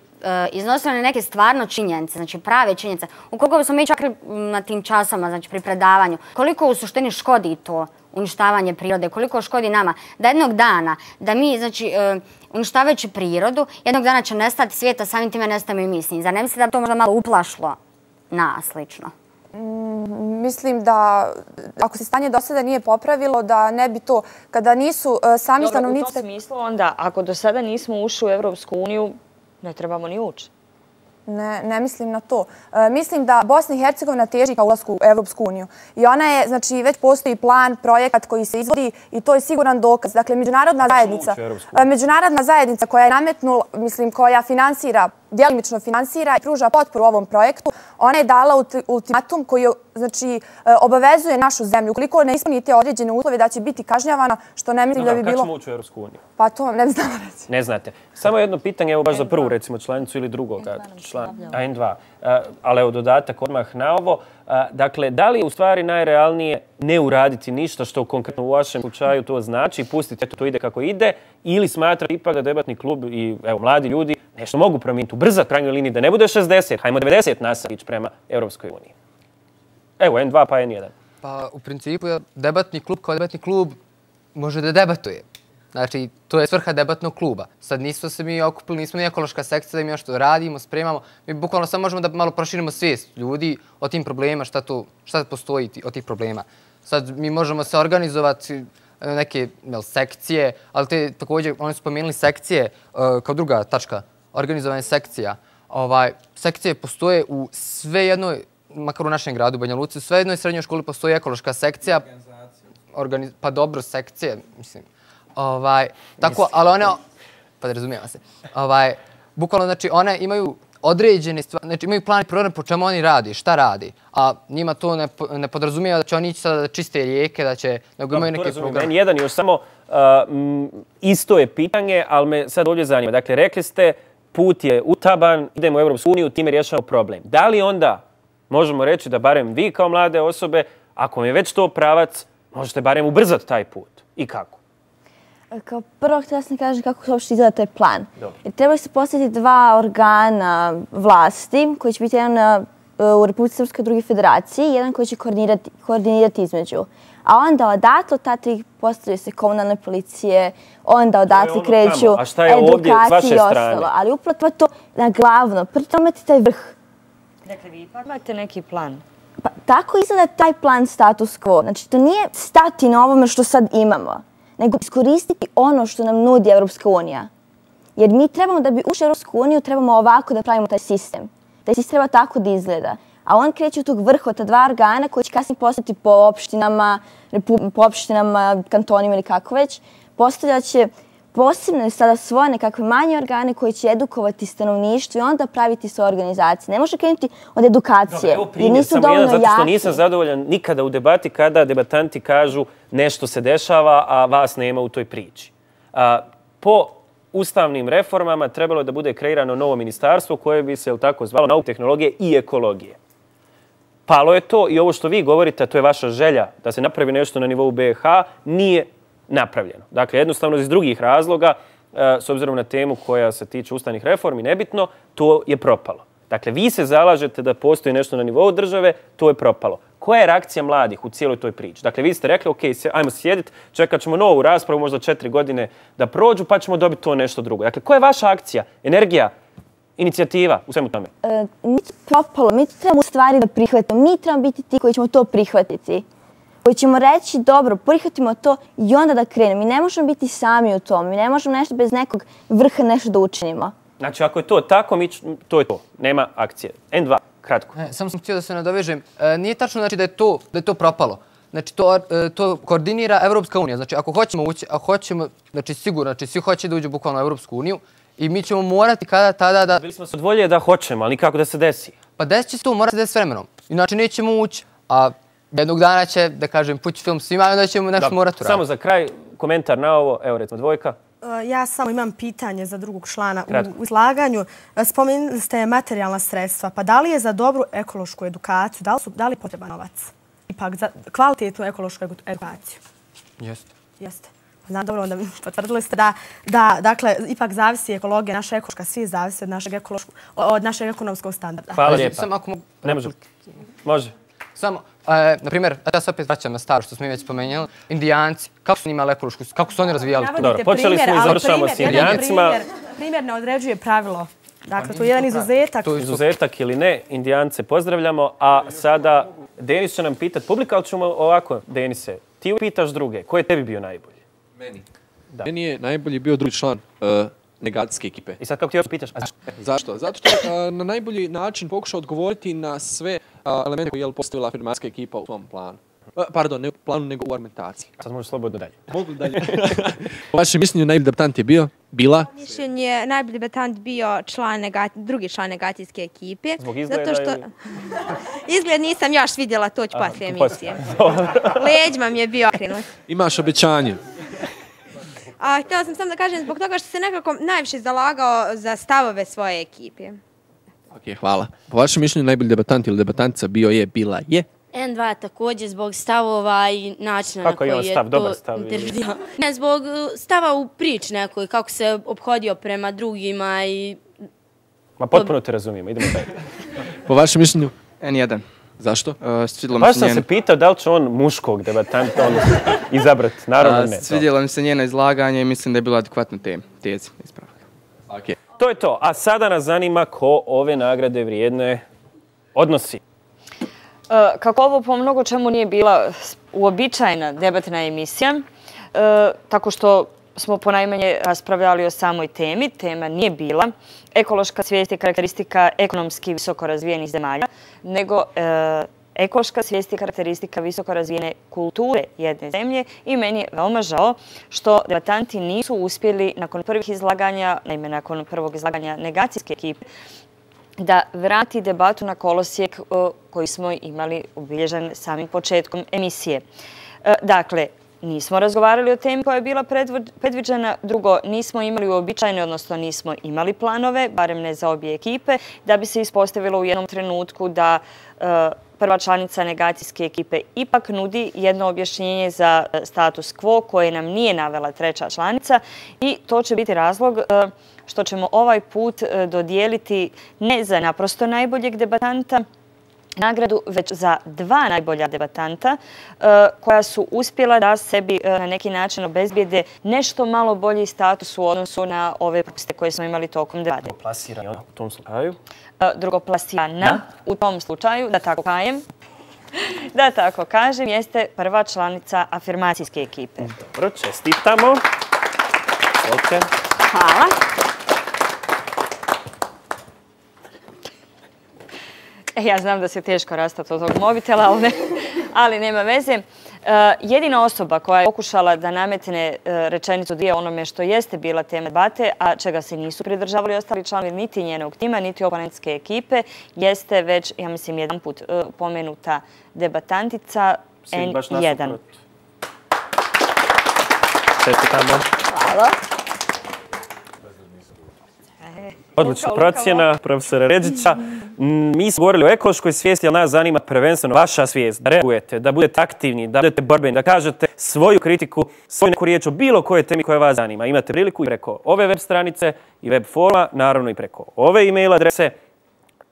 iznosili neke stvarno činjenice, znači prave činjenice, ukoliko bi smo mi čak na tim časama, znači pri predavanju, koliko u suštini škodi to uništavanje prirode, koliko škodi nama, da jednog dana, da mi, znači, uništavajući prirodu, jednog dana će nestati svijeta, samim time nestajemo i mi s njim. Zar ne mislite da bi to možda malo uplašilo nas lično? Mislim da ako se stanje do sada nije popravilo, da ne bi to, kada nisu sami stanovnici... U tom smislu onda, ako do sada nismo ušli u Evropsku uniju, ne trebamo ni ući. Ne mislim na to. Mislim da Bosna i Hercegovina teži ka ulasku u Evropsku uniju. I ona je, znači, već postoji plan, projekat koji se izvodi i to je siguran dokaz. Dakle, međunarodna zajednica koja je nametnula, mislim, koja finansira, djelimično finansira i pruža potporu ovom projektu, ona je dala ultimatum koji, znači, obavezuje našu zemlju. Ukoliko ne ispunite određene uslove da će biti kažnjavana, što ne mislim da bi bilo... Kako ćemo ući u Evropsku uniju? Pa to vam ne bi znala reći. Ne znate. Samo jedno pitanje, evo baš za prvu, recimo, članicu ili drugoga. N2. Ali evo dodatak odmah na ovo. Dakle, da li je u stvari najrealnije ne uraditi ništa što konkretno u vašem slučaju to znači, pustiti to ide kako ide, ili smatrati ipak da debatni klub i mladi ljudi nešto mogu promijeniti, ubrzati krajnjoj liniji, da ne bude 60, hajmo 90 nasavić prema Europskoj uniji. Evo, N2 pa N1. Pa u principu debatni klub kao debatni klub može da debatuje. Znači, to je svrha debatnog kluba. Sad nismo se mi okupili, nismo ni ekološka sekcija da mi još to radimo, spremamo. Mi bukvalno samo možemo da malo proširimo svijest ljudi o tim problemima, šta postoji od tih problema. Sad mi možemo se organizovati neke sekcije, ali te također, oni su spomenuli sekcije kao druga tačka, organizovanje sekcija. Sekcije postoje u sve jednoj, makar u našem gradu Banja Luci, u sve jednoj srednjoj školi postoji ekološka sekcija. Pa dobro, sekcije, mislim. Tako, ali one, pa razumijemo se, bukvalno, znači, one imaju određene stvari, znači imaju plan i program po čemu oni radi, šta radi, a njima to ne podrazumijeva da će oni ići sada da čiste rijeke, da će, nego imaju neke programe. Jedan još samo, isto je pitanje, ali me sad ovdje zanima. Dakle, rekli ste, put je utaban, idemo u Europsku uniju, time rješavamo problem. Da li onda možemo reći da barem vi kao mlade osobe, ako vam je već to pravac, možete barem ubrzati taj put? I kako? Kao prvo htjela sam kažem kako uopšte izgleda taj plan. Jer trebali se postaviti dva organa vlasti, koji će biti jedan u Republici Srpskoj, drugi federaciji, jedan koji će koordinirati između. A onda odatle ta tri postavljaju se komunalne policije, onda odatle kreću edukacije i ostalo. Ali upravo to na glavno, pri tome imate taj vrh. Dakle, vi ipak imate neki plan. Pa tako izgleda taj plan status quo. Znači, to nije stati na ovome što sad imamo, nego iskoristiti ono što nam nudi Evropska unija. Jer mi trebamo da bi ušli u Evropsku uniju, trebamo ovako da pravimo taj sistem. Taj sistem treba tako da izgleda. A on kreće od tog vrha, od ta dva organa koji će kasnije postati po opštinama, kantonima ili kako već, postavljat će posebne sada svoje nekakve manje organe koji će edukovati stanovništvo i onda praviti svoje organizacije. Ne može krenuti od edukacije, jer nisu dovoljno jaki. Zato što nisam zadovoljan nikada u debati kada debatanti kažu nešto se dešava, a vas nema u toj priči. Po ustavnim reformama trebalo da bude kreirano novo ministarstvo koje bi se tako zvalo nauke, tehnologije i ekologije. Palo je to i ovo što vi govorite, a to je vaša želja da se napravi nešto na nivou BiH, nije napravljeno. Dakle, jednostavno iz drugih razloga, s obzirom na temu koja se tiče ustavnih reformi, nebitno, to je propalo. Dakle, vi se zalažete da postoji nešto na nivou države, to je propalo. Koja je reakcija mladih u cijeloj toj priči? Dakle, vi ste rekli, ok, ajmo sjediti, čekat ćemo novu raspravu, možda 4 godine da prođu, pa ćemo dobiti to nešto drugo. Dakle, koja je vaša akcija, energija, inicijativa u svemu tome? Nije to propalo, mi to trebamo u stvari da prihvatimo. Mi trebamo biti ti koji ćemo to prihvatiti. Koji ćemo reći, dobro, prihvatimo to i onda da krenemo. Mi ne možemo biti sami u tom. Mi ne možemo nešto bez nekog vrha nešto da učinimo. Znači, ako je to tako, to je to. Nema akcije. N2, kratko. Samo sam htio da se nadovežem. Nije tačno znači, da je to propalo. Znači, to koordinira Evropska unija. Znači, ako hoćemo ući, a hoćemo, znači sigurno, znači svi hoće da uđu bukvalno u Evropsku uniju i mi ćemo morati kada tada da... Bili smo se od volje da hoćemo, ali nikako da se desi. Pa desit će se to, mora se desiti s vremenom. Inače, nećemo ući, a jednog dana će, da kažem, pući film svima i onda ćemo nešto morati uraditi. Samo za kraj, komentar na ovo, evo recimo Dvojka. Ja samo imam pitanje za drugog člana. U izlaganju spomenuli ste materijalna sredstva. Pa da li je za dobru ekološku edukaciju, da li je potreban novac? Ipak za kvalitetnu ekološku edukaciju? Jeste. Jeste. Znam, dobro, onda potvrdili ste da dakle, ipak zavisi ekologija, naša ekološka svijest zavisi od našeg ekonomskog standarda. Hvala lijepa. Ne može. Može. Samo, na primjer, ja se opet vraćam na staro što smo mi već spomenuli, Indijanci, kako su imali ekološku, kako su oni razvijali to? Dobro, počeli smo i završavamo s Indijancima. Primjer ne određuje pravilo. Dakle, to je jedan izuzetak. To je izuzetak ili ne, Indijance pozdravljamo, a sada Denis će nam pitati, publika, ali ćemo ovako, Denise, ti pitaš druge, ko je tebi bio najbolji? Meni. Meni je najbolji bio drugi član negacijske ekipe. I sad kako ti još pitaš? Zašto? Zato što je na najbolji način pokušao odgovoriti na sve elemente koje je postavila afirmacijska ekipa u svom planu. Pardon, ne u planu, nego u argumentaciji. Sad možeš slobodno dalje. Mogu dalje. Po vašem mišljenju najbolji debatant je bila? Po mišljenju najbolji debatant bio drugi član negacijske ekipe. Zbog izgleda ili? Izgled nisam još vidjela, to ću poslije emisije. Leđima mi je bio okrenut. Imaš obećanje. A htjela sam samo da kažem zbog toga što se nekako najviše zalagao za stavove svoje ekipe. Ok, hvala. Po vašem mišljenju najbolji debatant ili debatantica bila je? N2 također zbog stavova i načina na koji je to... Kako je on stav? Dobar stav? Ne, zbog stava u prič nekoj, kako se obhodio prema drugima i... Ma potpuno te razumijemo, idemo dalje. Po vašem mišljenju? N1. Zašto? Baš sam se pitao da li će on muškog debatanta izabrati. Naravno ne. Svidjelo mi se njeno izlaganje i mislim da je bilo adekvatno tezi ispravka. Okay. To je to. A sada nas zanima ko ove nagrade vrijedne odnosi. Kako ovo po mnogo čemu nije bila uobičajena debatna emisija, tako što smo ponajmanje raspravljali o samoj temi, tema nije bila ekološka svijest i karakteristika ekonomski visoko razvijenih zemalja, nego ekološka svijest i karakteristika visoko razvijene kulture jedne zemlje i meni je veoma žao što debatanti nisu uspjeli nakon prvih izlaganja, naime nakon prvog izlaganja negacijske ekipe, da vrati debatu na kolosijek koji smo imali obilježen samim početkom emisije. Dakle, nismo razgovarali o temi koja je bila predviđena. Drugo, nismo imali uobičajene, odnosno nismo imali planove, barem ne za obje ekipe, da bi se ispostavilo u jednom trenutku da prva članica negacijske ekipe ipak nudi jedno objašnjenje za status quo koje nam nije navela treća članica i to će biti razlog što ćemo ovaj put dodijeliti ne za naprosto najboljeg debatanta nagradu, već za 2 najbolja debatanta koja su uspjela da sebi na neki način obezbijede nešto malo bolji status u odnosu na ove propuste koje smo imali tokom debate. Drugoplasirana u tom slučaju? Drugoplasirana u tom slučaju, da tako kažem, jeste prva članica afirmacijske ekipe. Dobro, čestitamo. Hvala. Ja znam da se teško rastati od tog mobitela, ali nema veze. Jedina osoba koja je pokušala da nametne rečenicu dvije onome što jeste bila tema debate, a čega se nisu pridržavali ostali članovi niti njenog tima, niti oponentske ekipe, jeste već, ja mislim, jedan put pomenuta debatantica N1. Hvala. Odlična procjena profesora Ređića. Mi smo govorili o ekološkoj svijesti, ali nas zanima prvenstveno vaša svijest. Da reagujete, da budete aktivni, da budete borbeni, da kažete svoju kritiku, svoju neku riječ o bilo kojoj temi koja vas zanima. Imate priliku i preko ove web stranice i web foruma, naravno i preko ove e-mail adrese.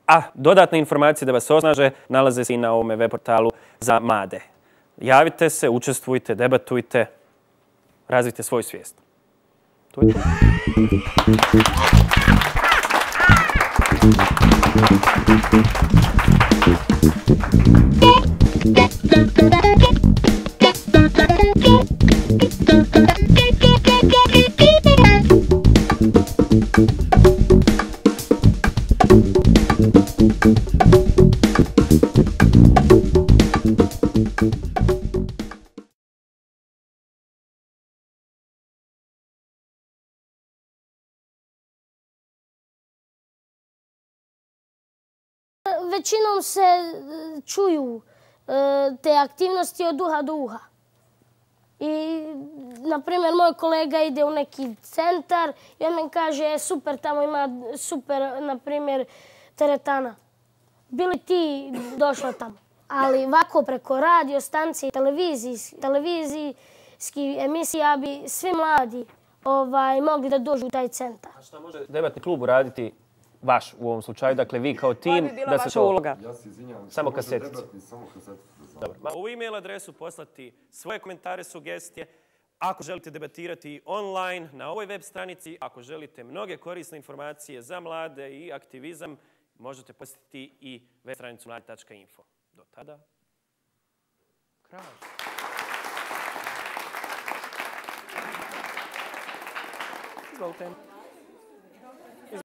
A dodatne informacije da vas osnaže nalaze se i na ovome web portalu za mlade. Javite se, učestvujte, debatujte, razvijte svoju svijest. To je to. Većinom se čuju te aktivnosti od uha do uha. I, na primjer, moj kolega ide u neki centar i on mi kaže, super, tamo ima super, na primjer, teretana. Bili ti došla tamo? Ali ovako preko radio stancije, televizijski emisija bi svi mladi mogli da dođu u taj centar. A šta može debatni klub uraditi vaš u ovom slučaju, dakle vi kao tim... Koja bi bila vaša uloga? Ja se izvinjam. Samo kasetice. Dobro. U e-mail adresu poslati svoje komentare, sugestije. Ako želite debatirati online na ovoj web stranici, ako želite mnoge korisne informacije za mlade i aktivizam, možete posjetiti i web stranicu mladi.info. Do tada, kraj. Izvolite.